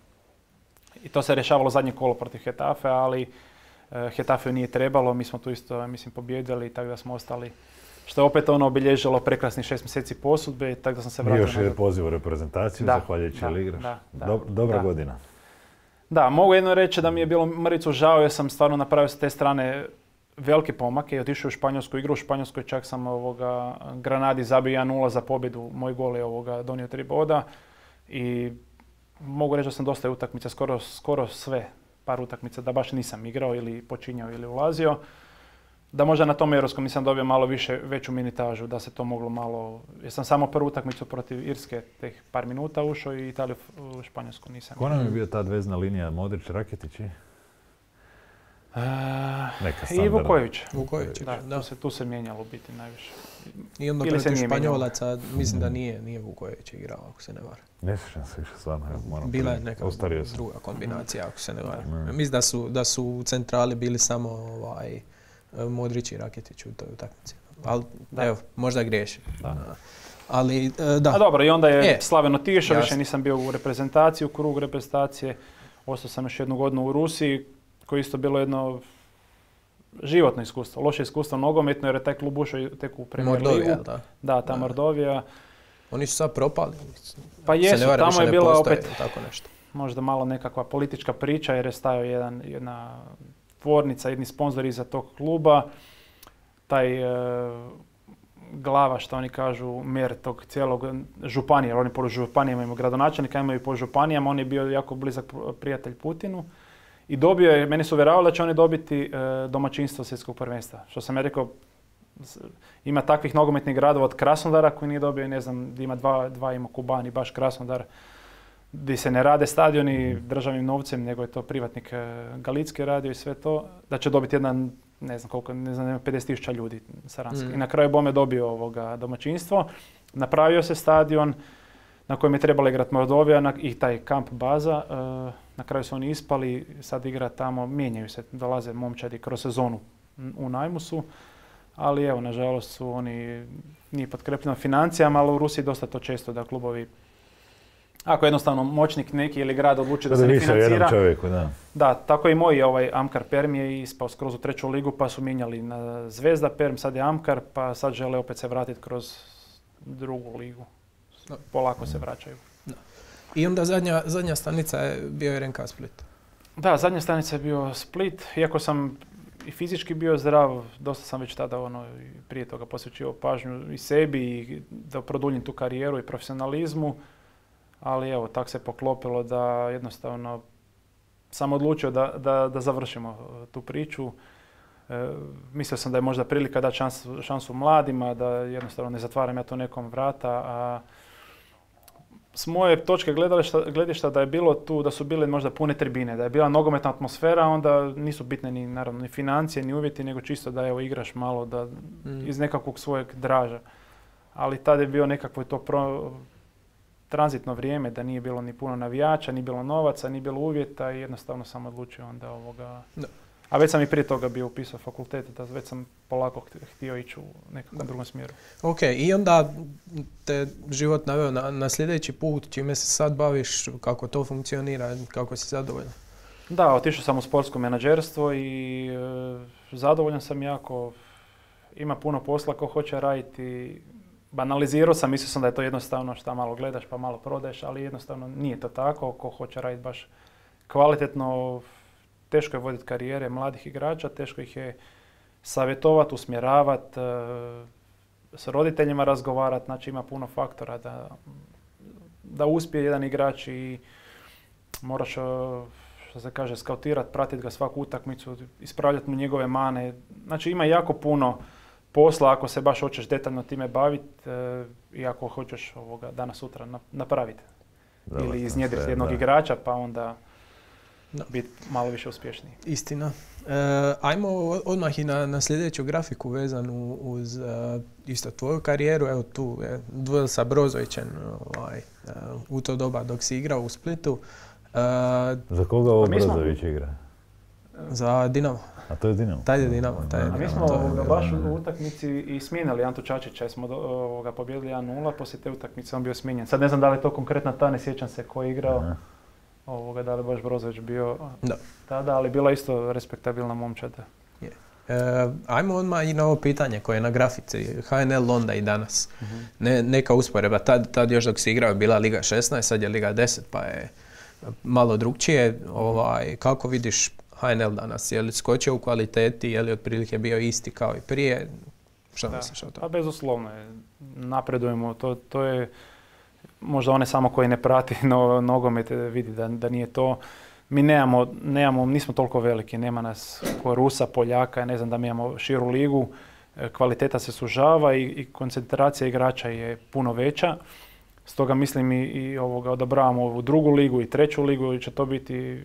I to se rješavalo zadnje kolo protiv Getafe, ali Getafe nije trebalo, mi smo tu isto, mislim, pobjedili, tako da smo ostali, što je opet obilježilo prekrasnih 6 mjeseci posudbe, tako da sam se vratio. Još je poziv u reprezentaciju, zahvaljujući igraš. Dobra godina. Da, mogu jedno reći da mi je bilo mrvicu žao, jer sam stvarno napravio s te strane velike pomake i otišao u Španjolsku igru. U Španjolskoj čak sam Granadi zabio 1-0 za pobjedu. Moj gol je donio 3 boda i mogu reći da sam dosta utakmica, skoro sve, par utakmica da baš nisam igrao ili počinjao ili ulazio. da možda na tom europskom nisam dobio malo veću minutažu, da se to moglo malo, jer sam samo prvu utakmicu protiv Irske teh par minuta ušao i Italiju u Španjolsku nisam. Ko nam je bio ta vezna linija, Modrić, Raketić i? I Vukojević. Vukojević, da. Tu se mijenjalo biti najviše. I onda protiv Španjolaca, mislim da nije Vukojević igrao, ako se ne varam. Ne sjećam se više stvarno. Bila je neka druga kombinacija, ako se ne varam. Mislim da su u centrali bili samo Modrić i Raketić u toj utakmici. Ali evo, možda griješim. Ali, da. A dobro, i onda je Slaven otišao, više nisam bio u reprezentaciji, u krugu reprezentacije. Ostao sam još 1 godinu u Rusiji, koje isto bilo jedno životno iskustvo, loše iskustvo nogometno, jer je taj klub ušao tek u Premier Ligu. Mordovija, da. Da, ta Mordovija. Oni su sad propali. Pa jesu, tamo je bila opet tako nešto. Možda malo nekakva politička priča, jer je stajao jedna tvornica, jedni sponzori iza tog kluba. Taj glava, što oni kažu, mer tog cijelog županije, jer oni po županijama imaju gradonačelnika, imaju po županijama, on je bio jako blizak prijatelj Putinu. I dobio je, meni su uvjeravali da će oni dobiti domaćinstvo svjetskog prvenstva. Što sam ja rekao, ima takvih nogometnih gradova od Krasnodara koji nije dobio, ne znam, gdje ima dva ima Kuban i baš Krasnodar, gdje se ne rade stadioni državnim novcem, nego je to privatnik Galicki radio i sve to, da će dobiti jedan, ne znam koliko, 50.000 ljudi Saranski. I na kraju Bome dobio domaćinstvo, napravio se stadion na kojem je trebala igrati Mordovija i taj kamp baza. Na kraju su oni ispali, sad igra tamo, mijenjaju se, dolaze momčadi kroz sezonu u najmu su, ali evo, nažalost su oni, nije potkrepljeno financijama, ali u Rusiji dosta to često da klubovi, ako jednostavno moćnik neki ili grad odluči da se ne financira. Čovjeku, da, tako i moj Amkar Perm je ispao skroz u 3. ligu, pa su mijenjali na Zvezda Perm, sad je Amkar, pa sad žele opet se vratiti kroz 2. ligu. Polako se vraćaju. Da. I onda zadnja stanica je bio RNK Split. Da, zadnja stanica je bio Split. Iako sam i fizički bio zdrav, dosta sam već tada prije toga posvećivao pažnju i sebi i da produljim tu karijeru i profesionalizmu. Ali evo, tak se poklopilo da jednostavno sam odlučio da završimo tu priču. Mislio sam da je možda prilika dati šansu mladima, da jednostavno ne zatvaram ja to nekom vrata, a s moje točke gledišta da je bilo tu, da su bile možda pune tribine, da je bila nogometna atmosfera, onda nisu bitne ni financije, ni uvjeti, nego čisto da evo igraš malo da iz nekakvog svojeg draža. Ali tada je bio nekakvo to tranzitno vrijeme, da nije bilo ni puno navijača, ni bilo novaca, ni bilo uvjeta i jednostavno sam odlučio onda Da. A već sam i prije toga bio upisao fakultet, da već sam polako htio ići u nekakvom drugom smjeru. Ok, i onda te život naveo na sljedeći put, čime se sad baviš, kako to funkcionira, kako si zadovoljan? Da, otišao sam u sportsko menadžerstvo i zadovoljan sam jako. Ima puno posla ko hoće raditi. Banalizirao sam, mislio sam da je to jednostavno šta malo gledaš pa malo prodaješ, ali jednostavno nije to tako. Ko hoće raditi baš kvalitetno, teško je voditi karijere mladih igrača, teško ih je savjetovati, usmjeravati, s roditeljima razgovarati, znači ima puno faktora da uspije jedan igrač i moraš, što se kaže, skautirati, pratiti ga svaku utakmicu, ispravljati mu njegove mane. Znači ima jako puno posla ako se baš hoćeš detaljno time baviti i ako hoćeš danas sutra napraviti. Ili iznjedriti jednog igrača pa onda biti malo više uspješniji. Istina. Ajmo odmah i na sljedeću grafiku vezanu uz isto tvoju karijeru. Evo tu je duel sa Brozovićem u to doba dok si igrao u Splitu. Za koga ovo Brozović igra? Za Dinamo. A to je Dinamo? Taj je Dinamo. A mi smo baš u utakmici i smijenili Antu Čačića jer smo pobjedili 1-0, poslije te utakmice on bio smijenjen. Sad ne znam da li je to konkretna ta, ne sjećam se ko je igrao. Da li je baš Brozović bio tada, ali bila isto respektabilna momčada. Ajmo odmah i na ovo pitanje koje je na grafici. HNL onda i danas. Neka usporedba. Tad još dok si igrao je bila Liga 16, sad je Liga 10 pa je malo drugčije. Kako vidiš HNL danas? Je li skočio u kvaliteti? Je li otprilike bio isti kao i prije? Što misliš o tome? Pa bezuslovno je. Napredujemo. To je možda one samo koji ne prati nogomet vidi da nije to. Mi nismo toliko veliki, nema nas ko Rusa, Poljaka, ne znam da mi imamo širu ligu, kvaliteta se sužava i koncentracija igrača je puno veća. Stoga mislim i odabravamo ovu drugu ligu i treću ligu i će to biti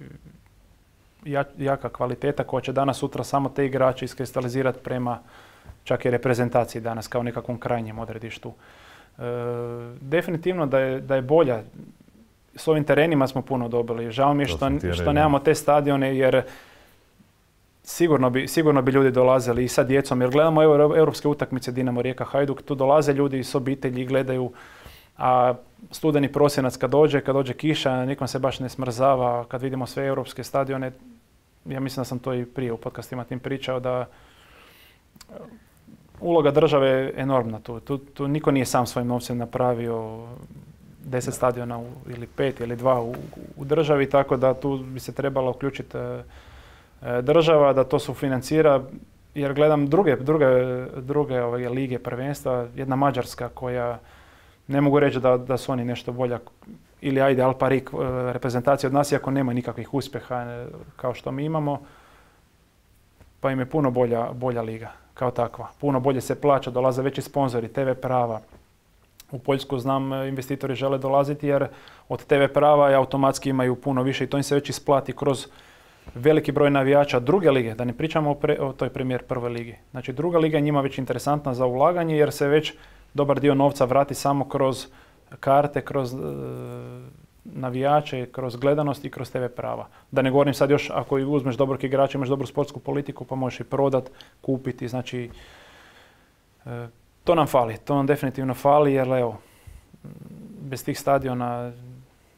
jaka kvaliteta koja će danas sutra samo te igrače iskristalizirati prema čak i reprezentaciji danas kao nekakvom krajnjem odredištu. Definitivno da je bolja. S ovim terenima smo dobili. Žao mi je što nemamo te stadione jer sigurno bi ljudi dolazili i sa djecom. Jer gledamo europske utakmice Dinamo, Rijeka, Hajduk. Tu dolaze ljudi s obitelji i gledaju. A studeni prosinac kad dođe kiša, nikom se baš ne smrzava. Kad vidimo sve europske stadione, ja mislim da sam to i prije u podcastima tim pričao, da uloga države je enormna tu. Niko nije sam svojim novcem napravio 10 stadiona ili 5 ili 2 u državi, tako da tu bi se trebala uključiti država da to sufinancira, jer gledam druge lige prvenstva, jedna Mađarska koja ne mogu reći da su oni nešto bolja, ili ajde Al Parik reprezentacija od nas, iako nema nikakvih uspjeha kao što mi imamo, pa im je puno bolja liga kao takva. Puno bolje se plaća, dolaze veći sponzori, TV prava. U Poljsku znam investitori žele dolaziti jer od TV prava i automatski imaju puno više i to im se već isplati kroz veliki broj navijača druge lige, da ne pričamo o toj Premier prvoj ligi. Znači druga liga je njima već interesantna za ulaganje jer se već dobar dio novca vrati samo kroz karte, kroz navijače, kroz gledanost i kroz TV prava. Da ne govorim sad još ako uzmeš dobrog igrača, imaš dobru sportsku politiku pa možeš i prodat, kupiti, znači to nam definitivno fali jer evo, bez tih stadiona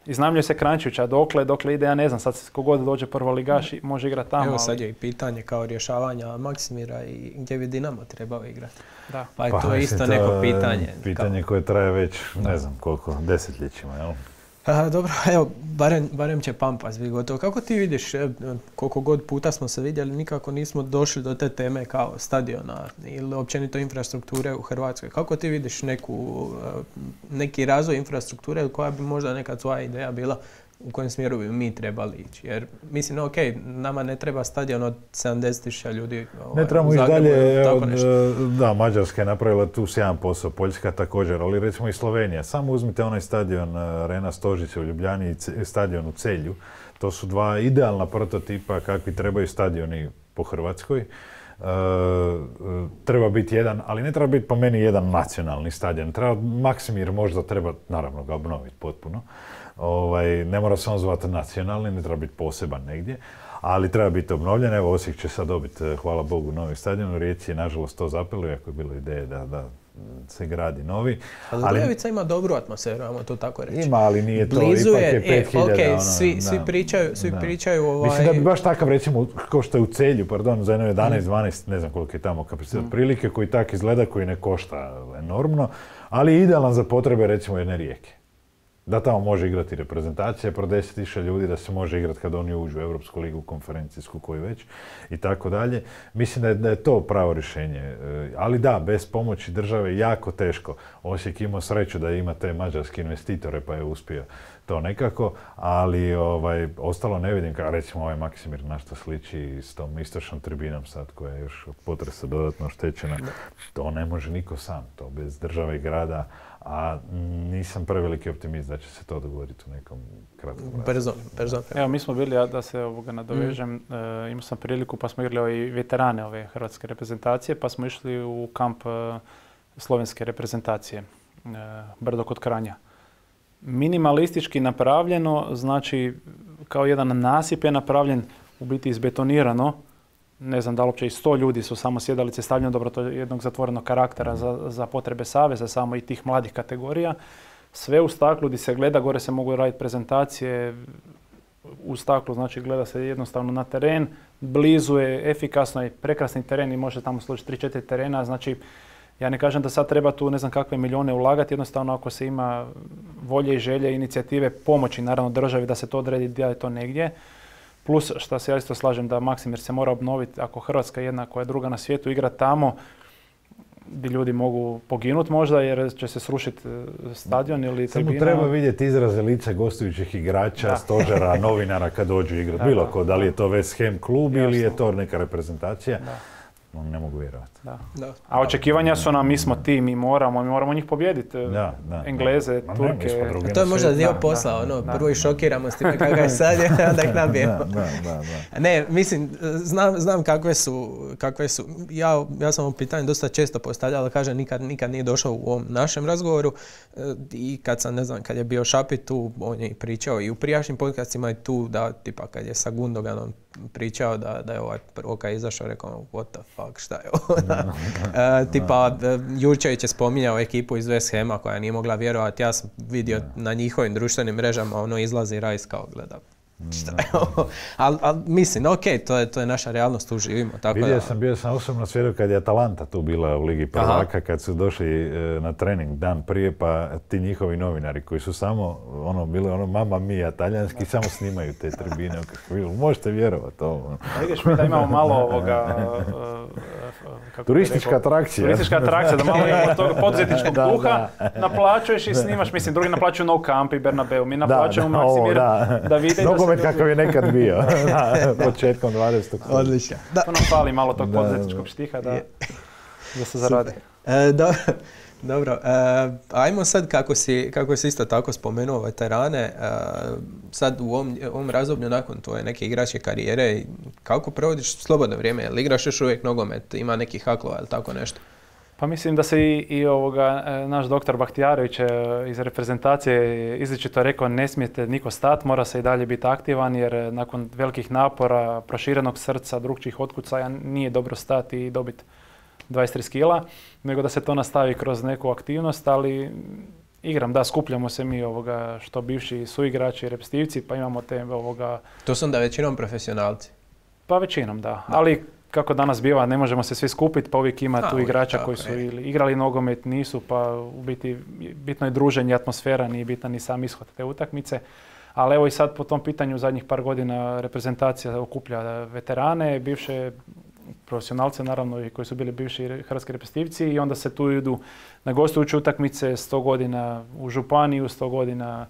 iznajmljuje se Kranjčića, dokle ide, ja ne znam, sad kogod dođe prvoligaš i može igrati tamo. Evo sad je i pitanje kao rješavanja Maksimira i gdje bi Dinamo trebao igrati. Da. Pa to je isto neko pitanje. Pitanje koje traje već, ne znam koliko, desetljećima, jel? Dobro, evo, barem će Pampas biti gotovo. Kako ti vidiš, koliko god puta smo se vidjeli, nikako nismo došli do te teme kao stadiona ili općenito infrastrukture u Hrvatskoj. Kako ti vidiš neki razvoj infrastrukture koja bi možda neka tvoja ideja bila u kojem smjeru bi mi trebali ići? Jer mislim, ok, nama ne treba stadion od 70.000 ljudi. Ne trebamo ići dalje, da, Mađarska je napravila tu sjajan posao, Poljska također, ali recimo i Slovenija. Samo uzmite onaj stadion Arena Stožice u Ljubljani i stadion u Celju. To su dva idealna prototipa kakvi trebaju stadioni po Hrvatskoj. Treba biti jedan, ali ne treba biti po meni jedan nacionalni stadion. Maksimir možda treba, naravno, ga obnoviti potpuno. Ne mora se on zvati nacionalni, ne treba biti poseban negdje, ali treba biti obnovljen. Evo, Osijek će sad dobiti, hvala Bogu, novi stadion. U Rijeci je nažalost to zapelo, iako je bilo ideje da se gradi novi. Ali Rujevica ima dobru atmosferu, ajmo to tako reći. Ima, ali nije to, blizu ipak je 5000. Okay, svi pričaju Mislim da bi baš takav, recimo, kao što je u Celju, za jedno 11-12, ne znam koliko je tamo kapacitet prilike, koji tak izgleda, koji ne košta enormno, ali je idealan za potrebe, recimo, jedne Rijeke. Da tamo može igrati reprezentacija, pro 10.000 ljudi, da se može igrati kad oni uđu u Europsku ligu, konferencijsku, koju već, i tako dalje. Mislim da je to pravo rješenje. Ali da, bez pomoći države jako teško. Osijek imao sreću da ima te mađarske investitore, pa je uspio to nekako, ali ostalo ne vidim, kao recimo ovaj Maksimir na što sliči s tom istočnom tribinom sad, koja je još od potresa dodatno oštećena. To ne može niko sam, to bez države i grada. A nisam preveliki optimist da će se to dogoditi u nekom kratkom razdoblju. Brzo. Evo, mi smo bili, da se nadovežem, imao sam priliku pa smo igrali i veterane ove hrvatske reprezentacije, pa smo išli u kamp slovenske reprezentacije, Brdo kod Kranja. Minimalistički napravljeno, znači kao jedan nasip je napravljen, u biti izbetonirano. Ne znam da li uopće i 100 ljudi su samo sjedalice stavljene, dobro, to je jednog zatvorenog karaktera za potrebe saveza, samo i tih mladih kategorija. Sve u staklu gdje se gleda, gore se mogu raditi prezentacije u staklu, znači gleda se jednostavno na teren, blizu je, efikasno je, prekrasni teren i može tamo služiti 3-4 terena, znači ja ne kažem da sad treba tu ne znam kakve milijune ulagati, jednostavno ako se ima volje i želje, inicijative, pomoći naravno državi da se to odredi, da je to negdje. Plus, što se ja isto slažem da Maksimir se mora obnoviti, ako Hrvatska jedna koja je druga na svijetu igra tamo, gdje ljudi mogu poginuti možda jer će se srušiti stadion ili tribina. Samo treba vidjeti izraze lica gostujućih igrača, stožera, novinara kad dođu igrati. Bilo ko, da li je to West Ham klub ili je to neka reprezentacija. Ne mogu vjerovati. A očekivanja su nam, mi smo ti, mi moramo njih pobijediti. Engleze, Turke. To je možda dio posla, prvo ih šokiramo s time kakva je sad, onda ih nabijemo. Ne, mislim, znam kakve su. Ja sam ovo pitanje dosta često postavljao, ali kažem, nikad nije došao u ovom našem razgovoru. I kad je bio Šapi tu, on je pričao i u prijašnjim podcastima i tu, da, tipa, kad je sa Gundoganom pričao da je ovaj prvo kad je izašao, rekao, what the fuck, šta je ovo? Tipa, Jurčević je spominjao ekipu iz West Hama koja nije mogla vjerovati. Ja sam vidio na njihovim društvenim mrežama, izlazi Rice kao gleda. Šta je ovo? Ali mislim, ok, to je naša realnost, tu živimo. Bio sam osobno svjedok kad je Atalanta tu bila u Ligi prvaka, kad su došli na trening dan prije, pa ti njihovi novinari koji su samo, bili mamma mia, talijanski, samo snimaju te tribine. Možete vjerovati ovo. Vidiš mi da imamo malo ovoga... Turistička atrakcija. Da malo imamo tog poduzetničkog duha, naplaćuješ i snimaš, mislim, drugi naplaćuju No Camp i Bernabeu, mi naplaćujemo Maksimir da vide nogomet kakav je nekad bio, početkom 20. Odlično. To nam fali malo tog poduzetničkog štiha da se zaradi. Dobro, ajmo sad kako si isto tako spomenuo veterane, sad u ovom razdoblju nakon tvoje neke igračke karijere, kako provodiš slobodno vrijeme? Jel igraš još uvijek nogomet, ima nekih haklova ili tako nešto? Pa mislim da se i naš doktor Bahtijarević iz reprezentacije izričito rekao ne smijete niko stati, mora se i dalje biti aktivan jer nakon velikih napora, proširenog srca, drugčijih otkucaja nije dobro stati i dobiti 23 kila, nego da se to nastavi kroz neku aktivnost, ali skupljamo se mi što bivši suigrači, repstivci, pa imamo te To su onda većinom profesionalci? Pa većinom, da. Ali kako danas biva, ne možemo se svi skupiti, pa uvijek ima tu igrača koji su ili igrali nogomet, nisu, pa u biti bitno je druženje, atmosfera, nije bitan ni sam ishod te utakmice. Ali evo i sad po tom pitanju zadnjih par godina reprezentacija okuplja veterane, bivše profesionalce naravno i koji su bili bivši hrvatski reprezentativci i onda se tu idu na gostujuće utakmice 100 godina u Županiju, 100 godina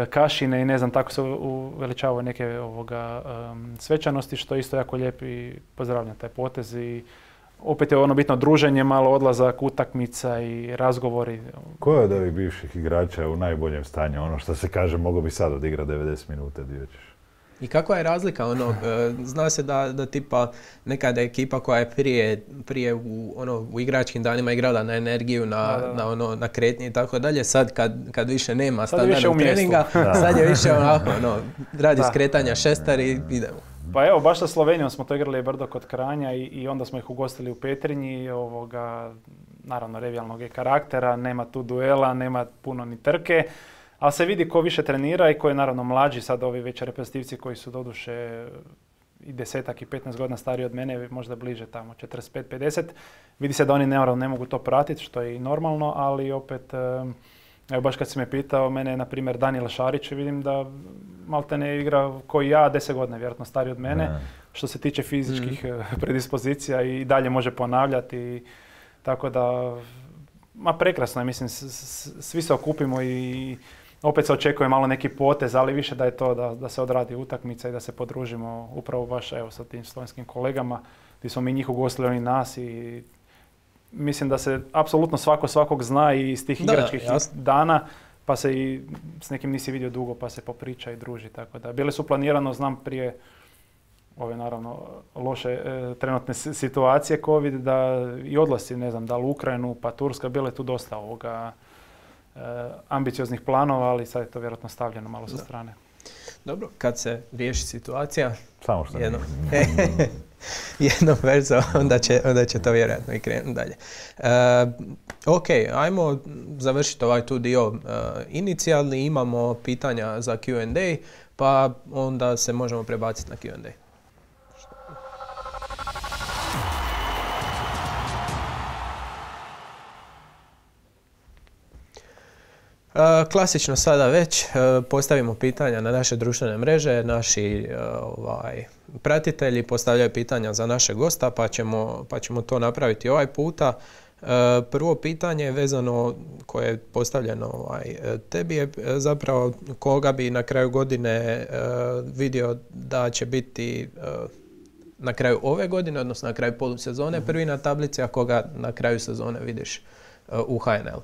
Kašine i ne znam, tako se uveličavaju neke svečanosti što je isto jako lijep i pozdravljam taj potez i opet je bitno druženje, malo odlazak, utakmica i razgovori. Ko je od ovih bivših igrača u najboljem stanju? Ono što se kaže, mogo bi sad odigrati 90 minuta, gdje ćeš? I kakva je razlika? Zna se da tipa nekada ekipa koja je prije u igračkim danima igrala na energiju, na kretnje i tako dalje, sad kad više nema standardnog treninga, sad je više radi skretanja šestar i idemo. Pa evo, baš sa Slovenijom smo to igrali brdo kod Kranja i onda smo ih ugostili u Petrinji, naravno revijalnog je karaktera, nema tu duela, nema puno ni trke. Ali se vidi ko više trenira i ko je naravno mlađi, sad ovi već reprezentativci koji su doduše i 10 i 15 godina stariji od mene, možda bliže tamo 45-50. Vidi se da oni ne mogu to pratiti, što je i normalno, ali opet, evo baš kad si me pitao, mene je na primjer Daniel Šarić, vidim da maltene igra koji ja, 10 godina, vjerojatno stariji od mene, što se tiče fizičkih predispozicija i dalje može ponavljati, tako da, prekrasno je, mislim, svi se okupimo i opet se očekuje malo neki potez, ali više da je to da se odradi utakmica i da se podružimo upravo baš sa tim slovenskim kolegama, gdje smo mi njih ugostili, oni nas i mislim da se apsolutno svakog zna i iz tih igračkih dana, pa se i s nekim nisi vidio dugo, pa se popriča i druži, tako da. Bile su planirano, znam prije ove naravno loše trenutne situacije COVID, da i odlasci, ne znam, da li u Ukrajinu pa Turska, bile tu dosta ambicioznih planova, ali sad je to vjerojatno stavljeno malo sa strane. Dobro, kad se riješi situacija, samo što jednom verzo, onda će to vjerojatno i krenuti dalje. Ok, ajmo završiti ovaj tu dio inicijalni, imamo pitanja za Q&A, pa onda se možemo prebaciti na Q&A. Klasično sada već postavimo pitanja na naše društvene mreže, naši pratitelji postavljaju pitanja za naše gosta, pa ćemo to napraviti ovaj puta. Prvo pitanje vezano koje je postavljeno tebi je zapravo koga bi na kraju godine vidio da će biti na kraju ove godine, odnosno na kraju polusezone prvi na tablici, a koga na kraju sezone vidiš u HNL?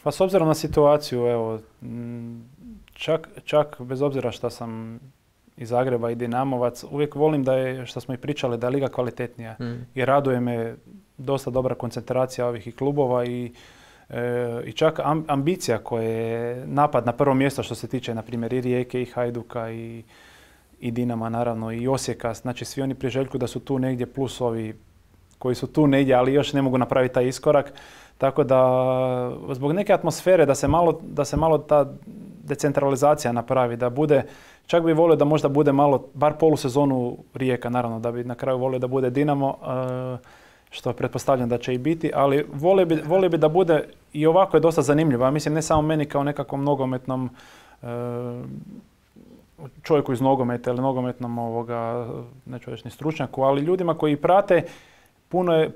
Pa s obzirom na situaciju, evo, čak bez obzira što sam iz Zagreba i Dinamovac, uvijek volim da je, što smo i pričali, da je liga kvalitetnija. I raduje me dosta dobra koncentracija ovih i klubova i čak ambicija koja je napad na prvo mjesto što se tiče, na primjer, i Rijeke, i Hajduka, i Dinama, naravno, i Osijeka. Znači, svi oni priželjkuju da su tu negdje, plus ovi koji su tu negdje, ali još ne mogu napraviti taj iskorak. Tako da, zbog neke atmosfere, da se malo ta decentralizacija napravi, da bude, čak bi volio da možda bude malo, bar polusezonu Rijeka, naravno, da bi na kraju volio da bude Dinamo, što pretpostavljam da će i biti, ali volio bi da bude, i ovako je dosta zanimljivo. Ja mislim, ne samo meni kao nekakvom nogometnom čovjeku iz nogometa ili nogometnom neću reći ni stručnjaku, ali ljudima koji prate,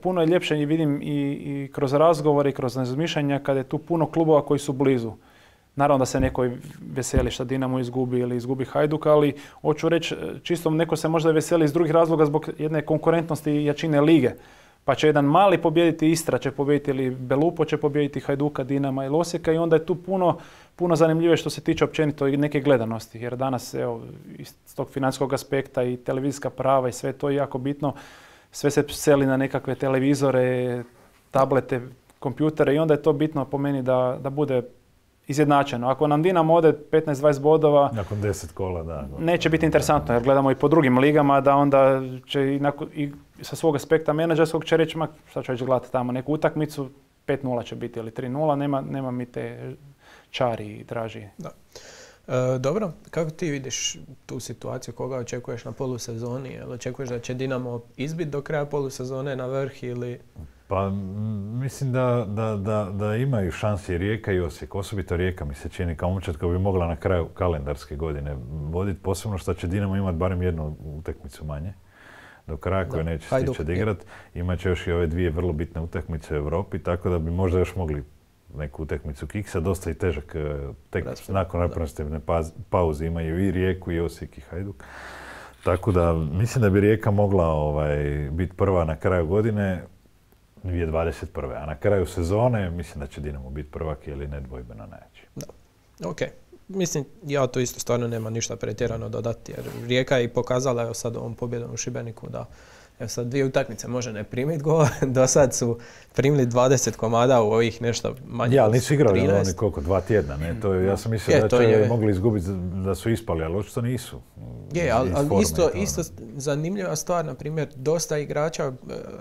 puno je ljepše i vidim i kroz razgovore i kroz razmišljanja kada je tu puno klubova koji su blizu. Naravno da se neko veseli što Dinamo izgubi ili izgubi Hajduk, ali hoću reći, čisto neko se možda veseli iz drugih razloga zbog jedne konkurentnosti i jačine lige. Pa će jedan mali pobijediti, Istra će pobijediti ili Belupo će pobijediti Hajduka, Dinama ili Osijeka, i onda je tu puno zanimljivije što se tiče općenito i neke gledanosti. Jer danas, evo, iz tog financijskog aspekta i televizijska prava i sve to je jako bitno. Sve se seli na nekakve televizore, tablete, kompjutere, i onda je to bitno po meni da bude izjednačeno. Ako nam Dinamo ode 15-20 bodova, nakon 10 kola, da. Neće biti interesantno, jer gledamo i po drugim ligama, da onda će i sa svog aspekta menadžerskog će reći, šta ću gledati tamo neku utakmicu, 5-0 će biti ili 3-0, nema mi te čari i draži. Da. Dobro, kako ti vidiš tu situaciju, koga očekuješ na polusezoni? Jel očekuješ da će Dinamo izbiti do kraja polusezone na vrh ili... Pa mislim da imaju šanse i Rijeka i Osijek. Osobito Rijeka mi se čini kao momčad koja bi mogla na kraju kalendarske godine voditi, posebno što će Dinamo imati barem jednu utakmicu manje do kraja koje neće stići odigrati. Imat će još i ove dvije vrlo bitne utakmice u Europi, tako da bi možda još mogli neku utakmicu kiksa, dosta i težak tek nakon reprezentativne pauze imaju i Rijeku i Osijek i Hajduk. Tako da mislim da bi Rijeka mogla biti prva na kraju godine 2021. A na kraju sezone mislim da će Dinamo biti prvak ili nedvojbeno najjači. Da. Ok. Mislim, ja to isto stvarno nema ništa pretjerano dodati, jer Rijeka je i pokazala, evo sad ovom pobjedom u Šibeniku, da evo sad 2 utakmice može ne primiti gol, do sad su primili 20 komada u ovih nešto manje. Ja, ali nisu igrali oni koliko, 2 tjedna, ne? To ja sam mislio da će mogli izgubiti, da su ispali, ali očito nisu. Je, ali isto zanimljiva stvar, na primjer, dosta igrača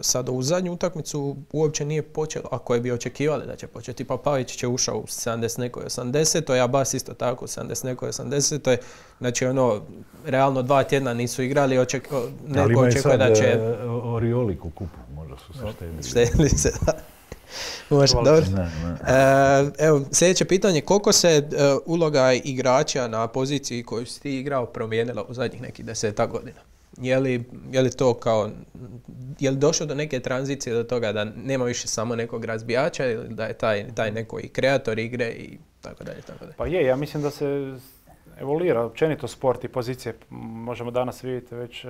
sad u zadnju utakmicu uopće nije počelo, a koje bi očekivali da će početi. Pa Pavić će ušao u 70 nekoj 80, a Bas isto tako u 70 nekoj 80. Znači realno 2 tjedna nisu igrali, neko očekuje da će... Orioli u kupu, možda su se štedili. Štedili se, da. Može, dobro. Evo, sljedeće pitanje, koliko se uloga igrača na poziciji koju si ti igrao promijenila u zadnjih nekih 10 godina? Je li to kao, je li došlo do neke tranzicije do toga da nema više samo nekog razbijača ili da je taj neko i kreator igre i tako dalje, tako dalje? Pa ja mislim da se evoluira općenito sport i pozicije. Možemo danas vidjeti već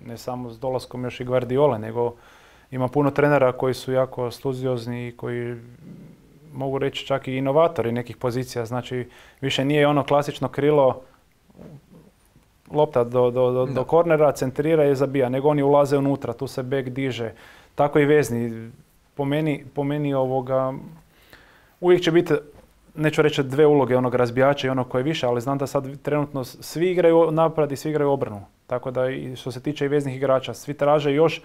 ne samo s dolaskom još i Guardiola, nego ima puno trenera koji su jako studiozni i koji mogu reći čak i inovatori nekih pozicija. Znači, više nije ono klasično krilo, lopta do kornera, centrira i zabija, nego oni ulaze unutra, tu se bek diže. Tako i vezni. Po meni uvijek će biti, neću reći 2 uloge, onog razbijača i onog koje je više, ali znam da sad trenutno svi igraju napad i svi igraju obranu. Tako da i što se tiče i veznih igrača, svi traže još,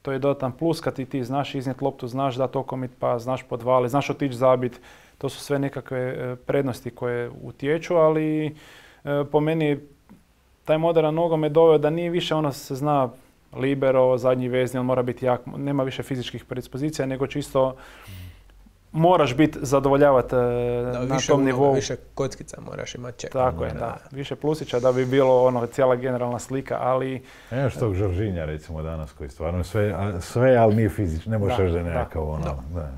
to je dodatan plus kad ti znaš iznijeti loptu, znaš dati okomit pas, znaš podvali, znaš otići zabit. To su sve nekakve prednosti koje utječu, ali po meni taj moderan nogomet doveo da nije više se zna libero, zadnji vezni, on mora biti jak, nema više fizičkih predispozicija, nego čisto moraš biti zadovoljavati na tom nivou. Više kockica moraš imati čeka. Tako je, da. Više plusića da bi bilo cijela generalna slika, ali... Evo što Žoržinja recimo danas koji stvarno sve ali nije fizično, ne možeš da je nekakav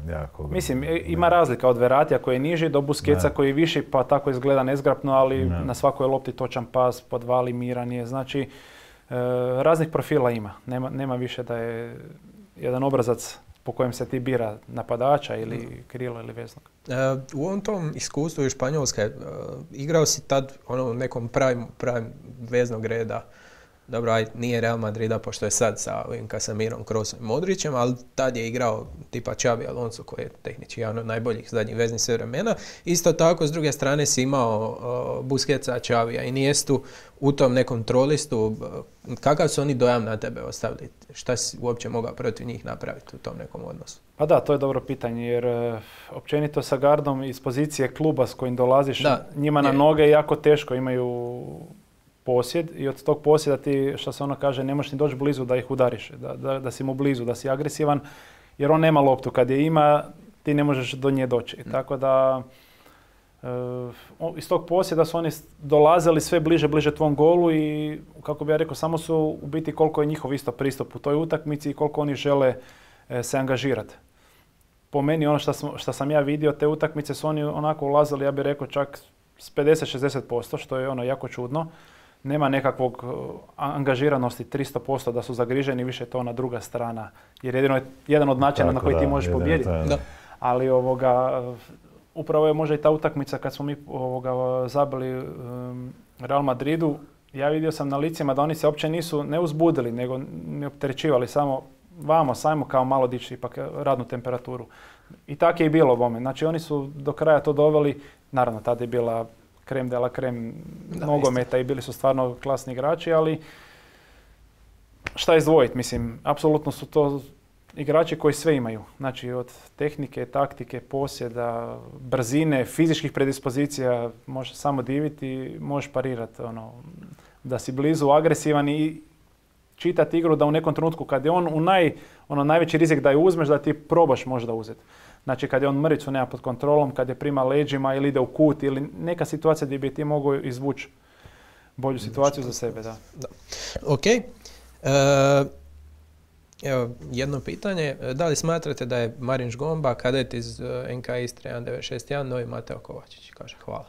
jako... Mislim, ima razlika od Verratija koji je niži do Busquetsa koji je viši, pa tako izgleda nezgrapno, ali na svakoj lopti točan pas, podvali, miran je, znači raznih profila ima. Nema više da je jedan obrazac po kojem se ti bira napadača ili krilo ili veznog. U ovom tom iskustvu iz Španjolske igrao si tad u nekom prime veznog reda. Dobro, nije Real Madrida pošto je sad sa ovim Casemirom, Krosom i Modrićem, ali tad je igrao tipa Xabi Alonso koji je tehnički jedan od najboljih zadnjih veznih sve vremena. Isto tako s druge strane si imao Busquetsa, Xavija i Iniestu u tom nekom trolistu. Kakav su oni dojam na tebe ostavili? Šta si uopće mogao protiv njih napraviti u tom nekom odnosu? Pa da, to je dobro pitanje jer općenito sa Gardom iz pozicije kluba s kojim dolaziš njima na noge je jako teško, imaju posjed i od tog posjeda ti, što se ono kaže, ne možeš ni doći blizu da ih udariš, da si mu blizu, da si agresivan, jer on nema loptu. Kad je ima, ti ne možeš do nje doći. Tako da, iz tog posjeda su oni dolazili sve bliže tvom golu i, kako bi ja rekao, samo su u biti koliko je njihov isto pristup u toj utakmici i koliko oni žele se angažirati. Po meni, ono što sam ja vidio, te utakmice su oni onako ulazili, ja bih rekao, čak s 50-60%, što je jako čudno. Nema nekakvog angažiranosti 300% da su zagriženi, više je to ona druga strana. Jer jedino je jedan od načina na koji ti možeš pobijediti. Ali upravo je možda i ta utakmica kad smo mi zabili Real Madridu, ja vidio sam na licima da oni se uopće nisu ne uzbudili, nego ne opterećivali, samo sajmo kao malo dići ipak radnu temperaturu. I tako je i bilo bome. Znači oni su do kraja to doveli, naravno tada je bila krem de la krem nogometa i bili su stvarno klasni igrači, ali šta izdvojiti, mislim, apsolutno su to igrači koji sve imaju. Znači od tehnike, taktike, posjeda, brzine, fizičkih predispozicija, možeš samo diviti, možeš parirati, da si blizu, agresivan i čitati igru da u nekom trenutku kad je on u najveći rizik da je uzmeš, da ti probaš možda uzeti. Znači kad je on mrvicu nema pod kontrolom, kad je prima leđima ili ide u kut ili neka situacija gdje bi ti mogao izvući bolju situaciju za sebe. Da. Ok. Evo, jedno pitanje. Da li smatrate da je Marin Žgomba, kadet iz NK Istre 1961, novi Mateo Kovačić? Kaže hvala.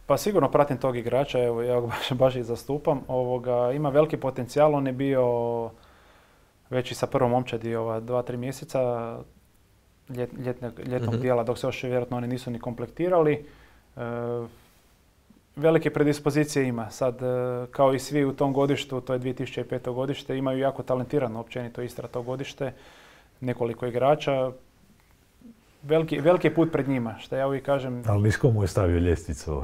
Pa sigurno pratim tog igrača, evo, ja ga baš i zastupam. Ima veliki potencijal, on je bio već i sa prvom momčadi 2-3 mjeseca ljetnog dijela, dok se još vjerojatno oni nisu ni komplektirali. Velike predispozicije ima. Sad, kao i svi u tom godištu, to je 2005. godište, imaju jako talentirano općenito Istra to godište, nekoliko igrača. Veliki put pred njima, što ja uvijek kažem. Ali nisko mu je stavio ljestvicu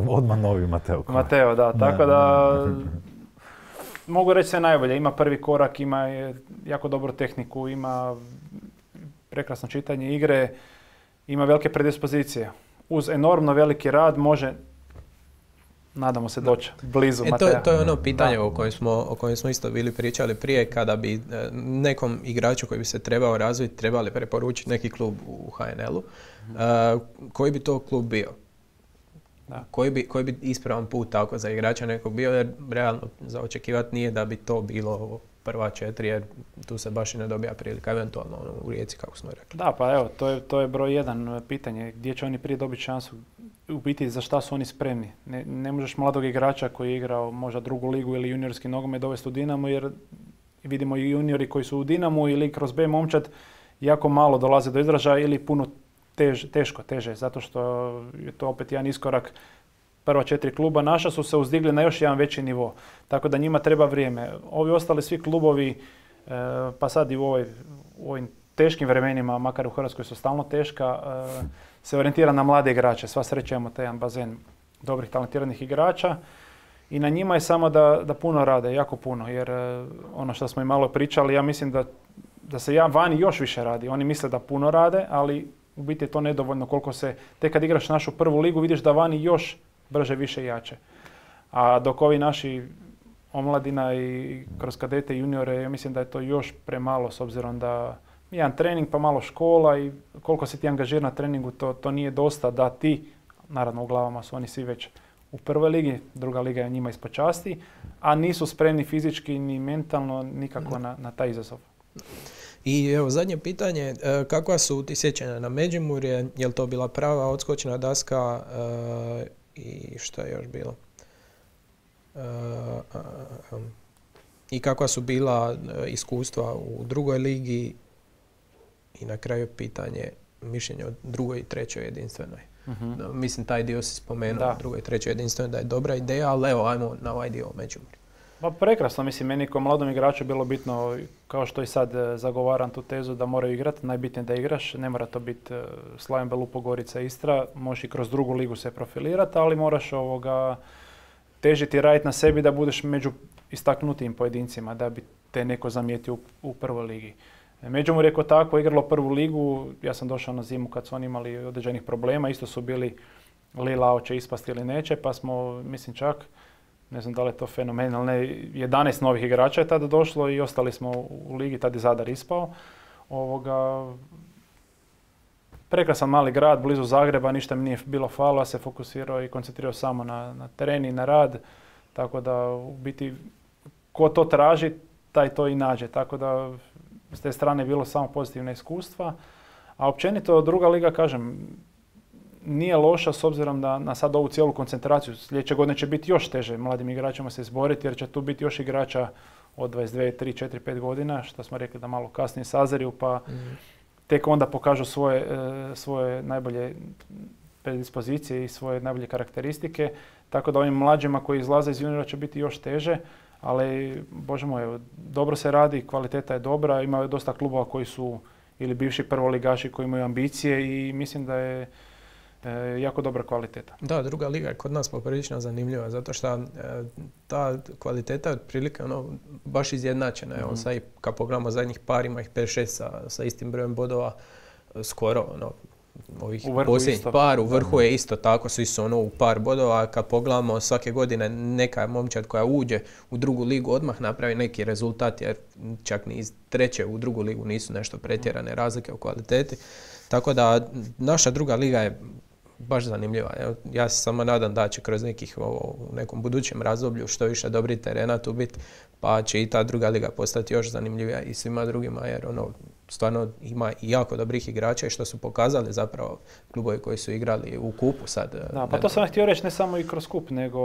odmah novi Mateo. Mateo, da. Tako da mogu reći sve najbolje. Ima prvi korak, ima jako dobru tehniku, ima prekrasno čitanje igre, ima velike predispozicije. Uz enormno veliki rad može, nadamo se, doći blizu Matea. To je ono pitanje o kojem smo isto bili pričali prije, kada bi nekom igraču koji bi se trebao razviti trebali preporučiti neki klub u HNL-u. Koji bi to klub bio? Da. Koji bi ispravan put tako za igrača nekog bio, jer realno za očekivati nije da bi to bilo prva 4, jer tu se baš i ne dobija prilika, eventualno u Rijeci, kako smo rekli. Da, pa evo, to je broj 1 pitanje, gdje će oni prije dobiti šansu, u biti za šta su oni spremni. Ne možeš mladog igrača koji je igrao možda drugu ligu ili juniorski nogomet dovesti u Dinamo, jer vidimo i juniori koji su u Dinamu ili kroz B momčad jako malo dolaze do izražaja ili puno teže, zato što je to opet jedan iskorak. Prva 4 kluba naša su se uzdigli na još jedan veći nivo, tako da njima treba vrijeme. Ovi ostali svi klubovi, pa sad i u ovim teškim vremenima, makar u Hrvatskoj su stalno teška, se orijentira na mlade igrače. Sva sreća imamo taj jedan bazen dobrih, talentiranih igrača i na njima je samo da puno rade, jako puno, jer ono što smo i malo pričali, ja mislim da se vani još više radi. Oni misle da puno rade, ali u biti je to nedovoljno koliko se, tek kad igraš našu prvu ligu vidiš da vani još brže, više i jače. A dok ovi naši omladina i kroz kadete i juniore, ja mislim da je to još premalo s obzirom da jedan trening pa malo škola i koliko si ti angažiran na treningu, to nije dosta da ti, naravno u glavama su oni svi već u prvoj ligi, druga liga je njima ispod časti, a nisu spremni fizički ni mentalno nikako na taj izazov. I evo zadnje pitanje, kakva su ti sjećanja na Međimurje, je li to bila prava odskočna daska i što je još bilo? I kakva su bila iskustva u drugoj ligi i na kraju pitanje mišljenja o drugoj i trećoj jedinstvenoj. Mislim, taj dio si spomenuo, drugoj i trećoj jedinstvenoj, da je dobra ideja, ali evo, ajmo na ovaj dio o Međimurju. Pa prekrasno, mislim, meni kao mladom igraču bilo bitno, kao što i sad zagovaram tu tezu da moraju igrati, najbitnije da igraš, ne mora to biti Slaven Belupo, Gorica, Istra, možeš i kroz drugu ligu se profilirati, ali moraš težiti i raditi na sebi da budeš među istaknutijim pojedincima, da bi te neko zamijetio u prvoj ligi. Međimurje je tako igralo prvu ligu, ja sam došao na zimu kad su oni imali određenih problema, isto su bili Lila hoće ispasti ili neće, pa smo, mislim čak, ne znam da li je to fenomenalno, 11 novih igrača je tada došlo i ostali smo u ligi, tada je Zadar ispao. Prekrasan mali grad, blizu Zagreba, ništa mi nije bilo falo, ja se fokusirao i koncentrirao samo na teren i na rad, tako da u biti ko to traži, taj to i nađe, tako da s te strane je bilo samo pozitivna iskustva. A općenito druga liga, kažem, nije loša s obzirom na sad ovu cijelu koncentraciju. Sljedeće godine će biti još teže mladim igračima se izboriti jer će tu biti još igrača od 22, 3, 4, 5 godina, što smo rekli da malo kasnije sazriju, pa tek onda pokažu svoje najbolje predispozicije i svoje najbolje karakteristike. Tako da ovim mlađima koji izlaze iz juniora će biti još teže, ali Bože moj, dobro se radi, kvaliteta je dobra, ima dosta klubova koji su ili bivši prvoligaši koji imaju ambicije i mislim da je jako dobra kvaliteta. Da, druga liga je kod nas poprilično zanimljiva, zato što ta kvaliteta je otprilike baš izjednačena. Evo, sad i kad pogledamo zadnjih par, ima ih 5-6 sa istim brojem bodova, skoro ovih posljednjih par, u vrhu je isto tako, svi su u par bodova. Kad pogledamo svake godine neka momčad koja uđe u drugu ligu odmah napravi neki rezultat, jer čak ni iz treće u drugu ligu nisu nešto pretjerane razlike u kvaliteti. Tako da naša druga liga je baš zanimljiva. Ja se samo nadam da će kroz u nekom budućem razdoblju što više dobrih terena tu biti, pa će i ta druga liga postati još zanimljivija i svima drugima, jer stvarno ima i jako dobrih igrača i što su pokazali zapravo klubovi koji su igrali u kupu sad. Da, pa to sam htio reći ne samo i kroz kup, nego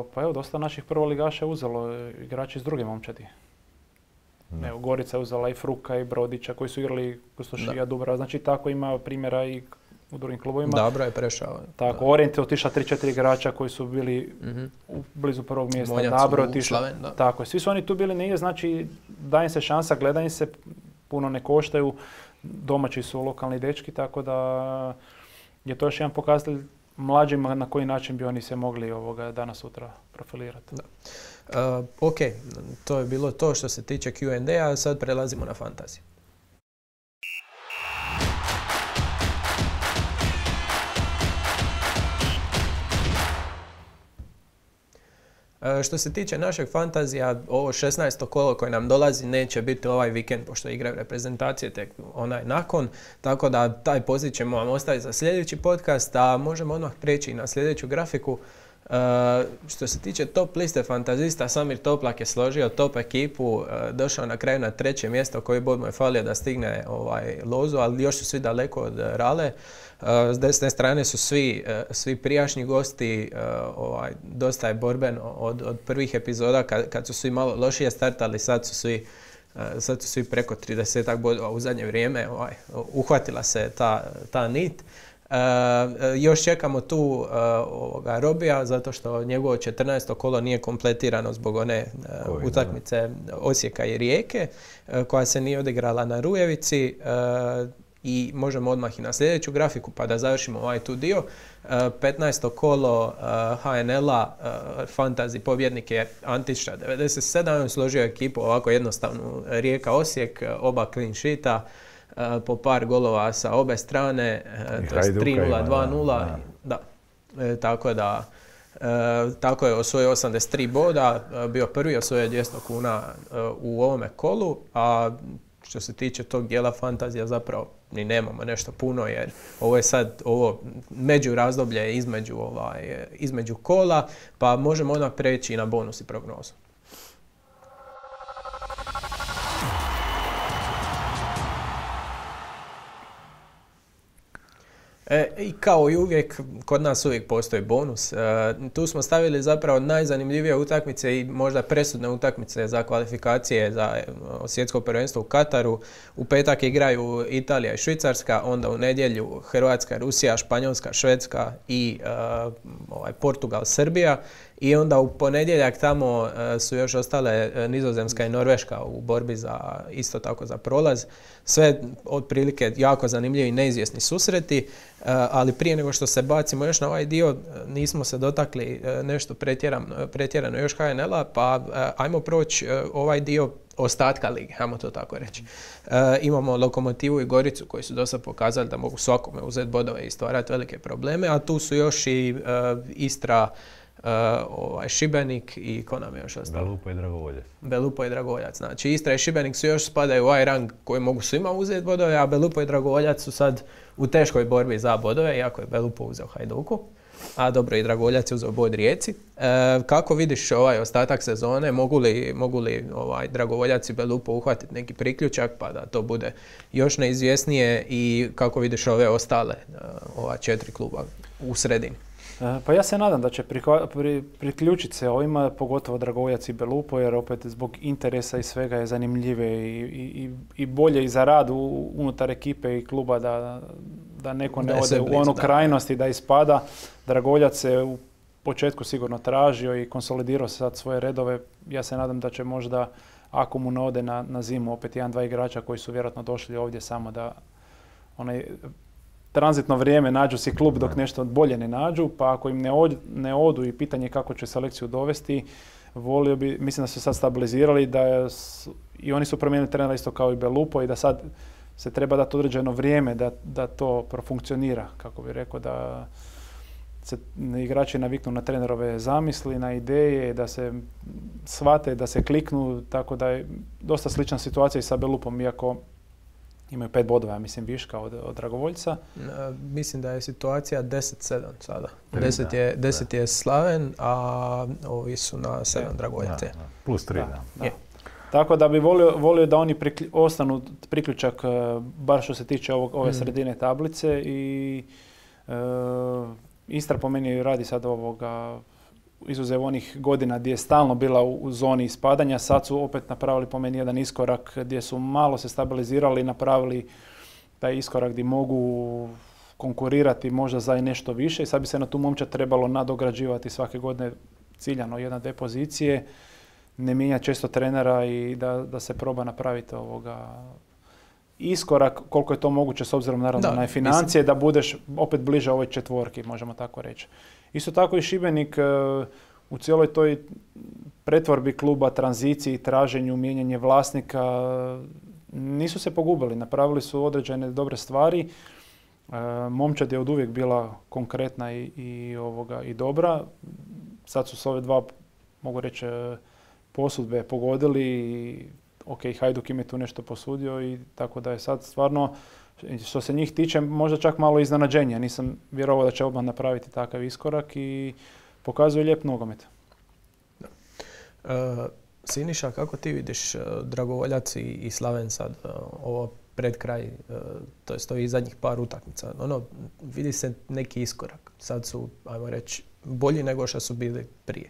pa evo dosta naših prvoligaša je uzelo igrači iz druge momčadi. Evo, Gorica je uzela i Fruka i Brodića koji su igrali Kustošija, Dubrava, znači tako ima primjera i u drugim klubovima. Dobro je prešao. Tako, Orient je otišao 3-4 igrača koji su bili blizu prvog mjesta. Dabro je otišao. Tako, svi su oni tu bili negdje, znači daje se šansa, gledanje se, puno ne koštaju, domaći su lokalni dečki, tako da je to još jedan pokazatelj mlađima na koji način bi oni se mogli danas sutra profilirati. Ok, to je bilo to što se tiče Q&A, sad prelazimo na fantaziju. Što se tiče našeg fantazija, ovo 16. kolo koje nam dolazi neće biti ovaj vikend, pošto igraju reprezentacije tek nakon, tako da taj poziv ćemo vam ostaviti za sljedeći podcast, a možemo odmah preći na sljedeću grafiku. Što se tiče top liste fantazista, Samir Toplak je složio top ekipu, došao na kraju na 3. mjesto, koji bod mu je falio da stigne lozu, ali još su svi daleko od Rale. S desne strane su svi prijašnji gosti, dosta je borben od prvih epizoda kad su svi malo lošije startali, sad su svi preko 30 bodova u zadnje vrijeme, uhvatila se ta nit. Još čekamo tu Robija, zato što njegovo 14. kolo nije kompletirano zbog one utakmice Osijeka i Rijeke, koja se nije odigrala na Rujevici. I možemo odmah i na sljedeću grafiku pa da završimo tu dio. 15. kolo HNL-a, fantasy pobjednik je Antiša 97, on složio ekipu ovako jednostavnu, Rijeka Osijek, oba clean sheeta, po par golova sa obe strane, to je 3-0, 2-0. Da. Tako je osvojio 83 boda, bio prvi, osvojio 200 kuna u ovome kolu, a što se tiče tog dijela fantazija zapravo ni nemamo nešto puno, jer ovo je sad među razdoblje između kola, pa možemo odmah preći i na bonus i prognozu. I kao i uvijek, kod nas uvijek postoji bonus. Tu smo stavili zapravo najzanimljivije utakmice i možda presudne utakmice za kvalifikacije za svjetsko prvenstvo u Kataru. U petak igraju Italija i Švicarska, onda u nedjelju Hrvatska, Rusija, Španjolska, Švedska i Portugal, Srbija. I onda u ponedjeljak tamo su još ostale Nizozemska i Norveška u borbi isto tako za prolaz. Sve otprilike jako zanimljivi i neizvjesni susreti, ali prije nego što se bacimo još na ovaj dio, nismo se dotakli nešto pretjerano još HNL-a, pa ajmo proći ovaj dio ostatka lige, ajmo to tako reći. Imamo Lokomotivu i Goricu koji su dosta pokazali da mogu svakome uzeti bodove i stvarati velike probleme, a tu su još i Istra, Šibenik i ko nam je još ostalo? Belupo i Dragovoljac. Znači Istra i Šibenik su još spadaju u ovaj rang koji mogu svima uzeti bodove, a Belupo i Dragovoljac su sad u teškoj borbi za bodove, iako je Belupo uzeo Hajduku, a dobro i Dragovoljac je uzeo bod Rijeci. Kako vidiš ovaj ostatak sezone, mogu li Dragovoljac i Belupo uhvatiti neki priključak pa da to bude još neizvjesnije, i kako vidiš ove ostale ova 4 kluba u sredini? Pa ja se nadam da će priključiti se ovima, pogotovo Dragovoljac i Belupo, jer opet zbog interesa i svega je zanimljive i bolje i za rad unutar ekipe i kluba da neko ne ode u onu krajnost i da ispada. Dragovoljac se u početku sigurno tražio i konsolidirao sad svoje redove. Ja se nadam da će možda, ako mu ne ode na zimu, opet 1-2 igrača koji su vjerojatno došli ovdje samo da tranzitno vrijeme nađu si klub dok nešto bolje ne nađu, pa ako im ne odu i pitanje kako će selekciju dovesti, volio bi, mislim da su sad stabilizirali, i oni su promijenili trenera isto kao i Belupo, i da sad se treba dati određeno vrijeme da to profunkcionira, kako bih rekao, da se igrači naviknu na trenerove zamisli, na ideje, da se shvate, da se kliknu, tako da je dosta slična situacija i sa Belupom, iako imaju 5 bodova, ja mislim, viška od Dragovoljca. Mislim da je situacija 10-7 sada. 10 je Slaven, a ovi su na 7 Dragovoljce. Plus 3, da. Tako da bi volio da oni ostanu priključak, bar što se tiče ove sredine tablice, i Istra po meni radi sad izuzev onih godina gdje je stalno bila u zoni ispadanja, sad su opet napravili po meni jedan iskorak gdje su malo se stabilizirali i napravili taj iskorak gdje mogu konkurirati možda za nešto više, i sad bi se na tu momčad trebalo nadograđivati svake godine ciljano 1-2 pozicije, ne mijenjati često trenera i da se proba napraviti iskorak koliko je to moguće s obzirom naravno na financije, da budeš opet bliže ovoj četvorki, možemo tako reći. Isto tako i Šibenik u cijeloj toj pretvorbi kluba, tranziciji, traženju, mijenjanje vlasnika, nisu se pogubili, napravili su određene dobre stvari. Momčad je od uvijek bila konkretna i dobra. Sad su s ove 2, mogu reći, posudbe pogodili i Hajduk im je tu nešto posudio, i tako da je sad stvarno, što se njih tiče, možda čak malo iznenađenja. Nisam vjerovao da će odmah napraviti takav iskorak i pokazuje lijep nogomet. Siniša, kako ti vidiš Dragovoljac i Slaven sad, ovo pred kraj, to je stoji zadnjih par utakmica? Vidi se neki iskorak. Sad su, ajmo reći, bolji nego što su bili prije.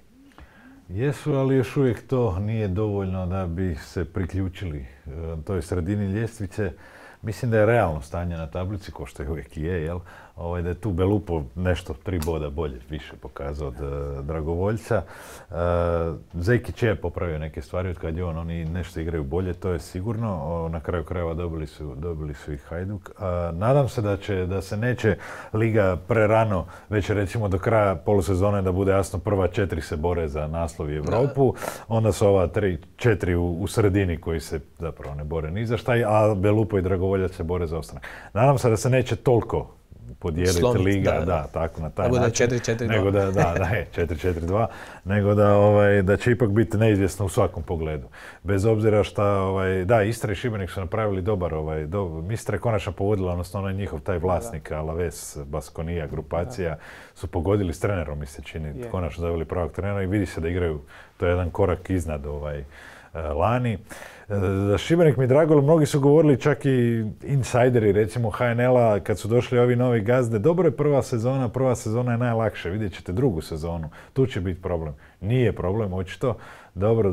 Jesu, ali još uvijek to nije dovoljno da bi se priključili toj sredini ljestvice. Mislim da je realno stanje na tablici, ko što je uvijek je, jel? Da je tu Belupo nešto 3 boda bolje više pokazao od Dragovoljca. Zekić je popravio neke stvari od kad je oni nešto igraju bolje, to je sigurno. Na kraju krajeva dobili su i Hajduk. Nadam se da se neće liga prerano, već recimo do kraja polusezone, da bude jasno prva 4 se bore za naslov i Europu, onda su ova 4 u sredini koji se zapravo ne bore ni za šta, a Belupo i Dragovoljac se bore za ostanak. Nadam se da se neće toliko podijeliti slomit, liga, da. tako na taj Da bude način. 4-4-2. Nego da, 4-4-2, nego da će ipak biti neizvjesno u svakom pogledu. Bez obzira šta, da, Istra i Šibenik su napravili dobar, Istra je konačno pogodila, odnosno onaj njihov taj vlasnik, Alaves, Baskonija, grupacija, su pogodili s trenerom, mi se čini, konačno zaveli pravog trenera i vidi se da igraju, to je jedan korak iznad lani. Za Šibenik mi je drago, mnogi su govorili, čak i insajderi, recimo HNL-a, kad su došli ovi novi gazde, dobro je prva sezona je najlakše, vidjet ćete drugu sezonu, tu će biti problem. Nije problem, očito. Dobro,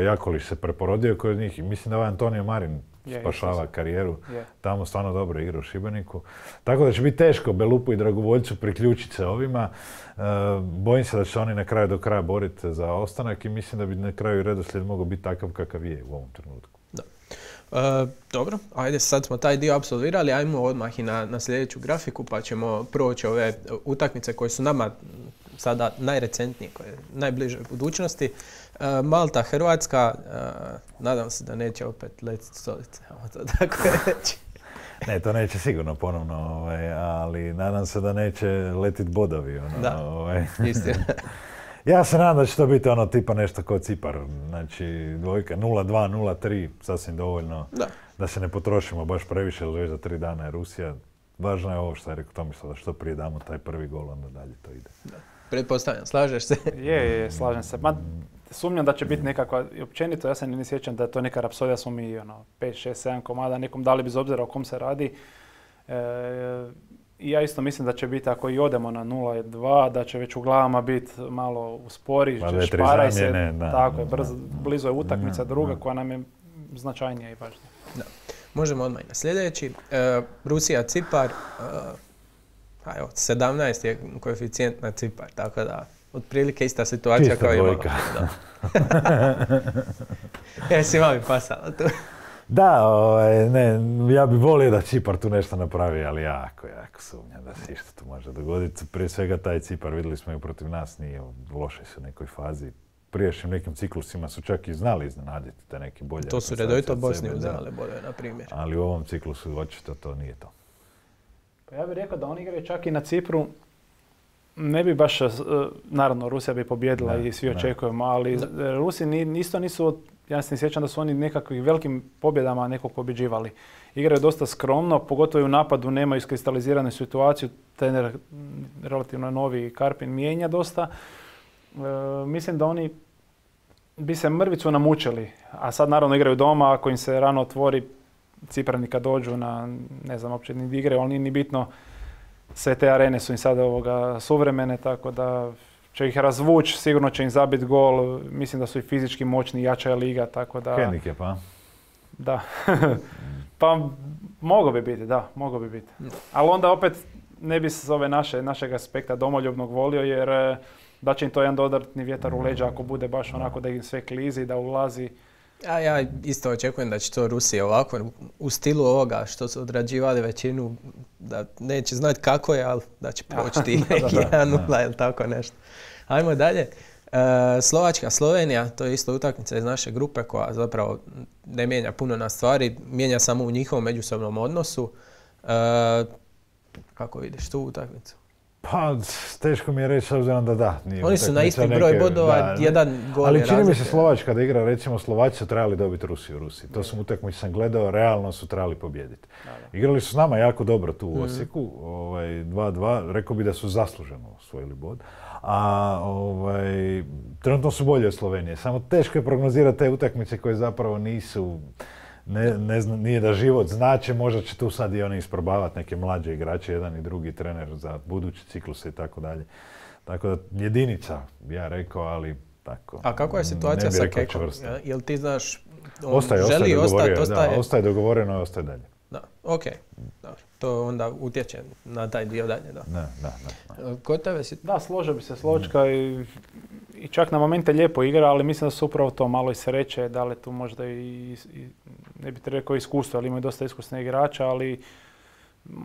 Jakolić se preporodio kod njih i mislim da Antonio Marin spašava karijeru. Tamo stvarno dobro igra u Šibeniku. Tako da će biti teško Belupu i Dragovoljcu priključiti se ovima. Bojim se da će se oni na kraju do kraja boriti za ostanak i mislim da bi na kraju redoslijed mogao biti takav kakav je u ovom trenutku. Da. Dobro, ajde sad smo taj dio apsolvirali, ajmo odmah i na sljedeću grafiku pa ćemo proći ove utakmice koje su nama sada najrecentnije, koje je najbliže budućnosti. Malta, Hrvatska, nadam se da neće opet letiti stolice, to tako reći. Ne, to neće sigurno ponovno, ali nadam se da neće letiti bodovi. Istina. Ja se nadam da će to biti tipa nešto kao Cipar, znači dvojka 0-2, 0-3, sasvim dovoljno da se ne potrošimo baš previše, jer već za 3 dana je Rusija. Važno je ovo što je rekao Tomislav, da što prije damo taj prvi gol, onda dalje to ide. Da. Pretpostavljam, slažeš se? Je, slažem se. Sumnjam da će biti nekakva, i općenito ja se ne sjećam da je to neka rapsodija, smo mi 5, 6, 7 komada nekom dali bez obzira o kom se radi. I ja isto mislim da će biti, ako i odemo na 0-2, da će već u glavama biti malo uspori, šparaj se, tako je, blizu je utakmica druga koja nam je značajnija i važnija. Da. Možemo odmah i na sljedeći. Rusija, Cipar, 17 je koeficijent na Cipar, tako da otprilike ista situacija čista kao dvojka. Jesi malo pasala tu. Da, ja bih volio da Cipar tu nešto napravi, ali jako sumnjam da se išta tu može dogoditi. Prije svega taj Cipar, vidjeli smo i protiv nas, nije u lošoj su nekoj fazi. Prijašnjim nekim ciklusima su čak i znali iznenaditi te neke bolje. To su redovito Bosni uzimale bodove, na primjer. Ali u ovom ciklusu očito to nije to. Pa ja bih rekao da oni igraju čak i na Cipru. Ne bi baš, naravno Rusija bi pobjedila i svi očekujemo, ali Rusi isto nisu, ja se ne sjećam da su oni nekakvih velikim pobjedama nekog pobjeđivali. Igraju dosta skromno, pogotovo i u napadu nemaju iskristaliziranu situaciju, trener relativno novi Karpin mijenja dosta. Mislim da oni bi se mrvicu namučili, a sad naravno igraju doma, ako im se rano otvori, Ciprani kad dođu na, ne znam, uopće ni igre, ali nije ni bitno, sve te arene su im sada suvremene, tako da će ih razvući, sigurno će im zabiti gol, mislim da su i fizički moćni, jača je liga, tako da... Hendikep, pa? Da. Pa mogao bi biti, da, mogao bi biti. Ali onda opet ne bi s ove našeg aspekta domoljubnog volio, jer da će im to jedan dodatni vjetar u leđa ako bude baš onako da im sve klizi, da ulazi. Ja isto očekujem da će to Rusija ovako u stilu ovoga što su odrađivali većinu, da neće znati kako je, ali da će proći 1-0 ili tako nešto. Ajmo dalje. Slovačka, Slovenija, to je isto utakmica iz naše grupe koja zapravo ne mijenja puno na stvari, mijenja samo u njihovom međusobnom odnosu. Kako vidiš tu utakmicu? Pa, teško mi je reći s obzirom da. Oni su na isti broj bodova, jedan gol je razlike. Ali čini mi se Slovačka da igra, recimo Slovaci su trebali dobiti Rusiju u Rusiji. To sam utakmicu sam gledao, realno su trebali pobijediti. Igrali su s nama jako dobro tu u Osijeku, 2-2, rekao bi da su zasluženo osvojili bod. A trenutno su bolje od Slovenije. Samo teško je prognozirati te utakmice koje zapravo nisu... Ne znam, nije da život znače, možda će tu sad i oni isprobavati neke mlađe igrače, jedan i drugi trener za budući ciklus i tako dalje. Tako da jedinica, ja rekao, ali tako. A kako je situacija sa Kekom? Jel ti znaš, ostaje dogovoreno i ostaje dalje. Da, ok. Dobro. To onda utječe na taj dio dalje, da. Da. Kod tebe si... Da, složio bi se Slovačka i čak na momente lijepo igra, ali mislim da su upravo to malo i sreće, da li tu možda i ne bih rekao iskustvo, ali imaju dosta iskusne igrača, ali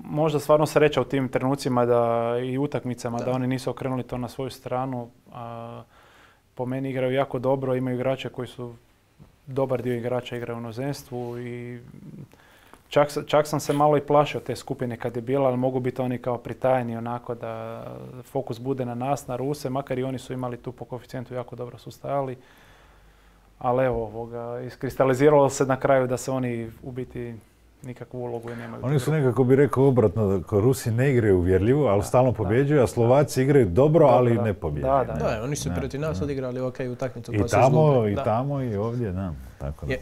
možda stvarno sreća u tim trenucima i utakmicama da oni nisu okrenuli to na svoju stranu. Po meni igraju jako dobro, imaju igrače koji su, dobar dio igrača igraju u inozemstvu i Čak sam se malo i plašio te skupine kad je bila, ali mogu biti oni kao pritajeni onako da fokus bude na nas, na Ruse, makar i oni su imali tu po koeficijentu jako dobro su stajali. Ali evo, iskristaliziralo se na kraju da se oni u biti nikakvu ulogu i nemaju. Oni su nekako bi rekao obratno, kao Rusi ne igraju uvjerljivo, ali stalno pobjeđuju, a Slovaci igraju dobro, ali ne pobjeđuju. Da, oni su protiv nas odigrali utakmicu. I tamo i ovdje, da. Tako da.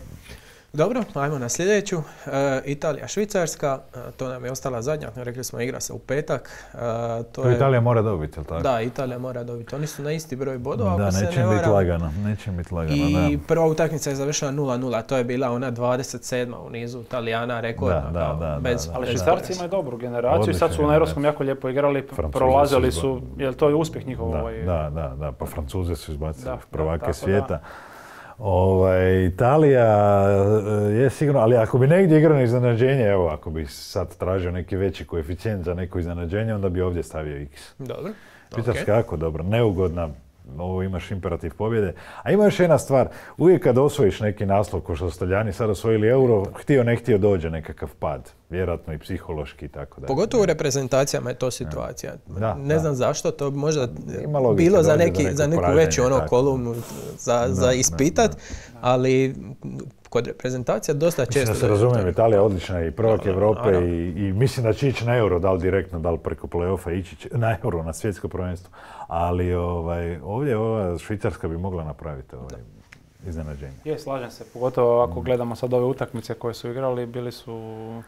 Dobro, ajmo na sljedeću. Italija, Švicarska, to nam je ostala zadnja, rekli smo igra se u petak. To Italija mora dobiti, jel tako? Da, Italija mora dobiti. Oni su na isti broj bodova, ako se ne varam. Neće biti lagano, I prva utakmica je završila 0-0, to je bila ona 27. u nizu Italijana, rekordna. Ali Švicarci imaju dobru generaciju i sad su na Europskom jako lijepo igrali, prolazili su, jer to je uspjeh njihov. Da, pa Francuze su izbacili prvake svijeta. Italija je sigurno, ali ako bi negdje igrao na iznenađenje, evo, ako bi sad tražio neki veći koeficijent za neko iznenađenje, onda bi ovdje stavio X. Dobro. Švicarska jako dobro, neugodna, ovo imaš imperativ pobjede. A ima još jedna stvar, uvijek kad osvojiš neki naslov, ko što su Talijani sad osvojili Euro, htio ne htio dođe nekakav pad. Vjerojatno i psihološki i tako da. Pogotovo u reprezentacijama je to situacija. Ne znam zašto, to bi možda bilo za neku veću kolumnu za ispitat, ali kod reprezentacija dosta često... Mislim da se razumijem, Italija je odlična i prvak Europe i mislim da će ići na Euro, da li direktno, da li preko play-offa ići na Euro, na svjetsko prvenstvo. Ali ovdje ova Švicarska bi mogla napraviti iznenađenje. Slažem se, pogotovo ako gledamo sad ove utakmice koje su igrali, bili su...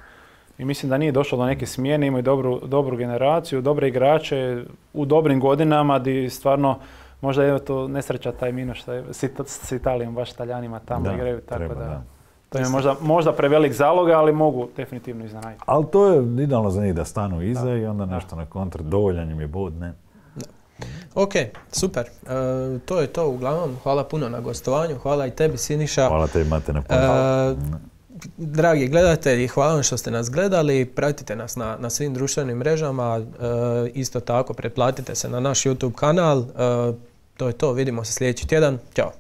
I mislim da nije došlo do neke smjene, imaju dobru generaciju, dobre igrače u dobrim godinama gdje stvarno možda je to nesreća taj minus što je s Italijom, baš Talijanima tamo igraju, tako da. To je možda prevelik zalog, ali mogu definitivno iznenaditi. Ali to je idealno za njih da stanu iza i onda nešto na kontr, dovoljan im je bod, ne? Ok, super. To je to uglavnom. Hvala puno na gostovanju, hvala i tebi Siniša. Hvala tebi Mate na pozivu. Dragi gledatelji, hvala vam što ste nas gledali, pratite nas na svim društvenim mrežama, isto tako pretplatite se na naš YouTube kanal. To je to, vidimo se sljedeći tjedan. Ćao!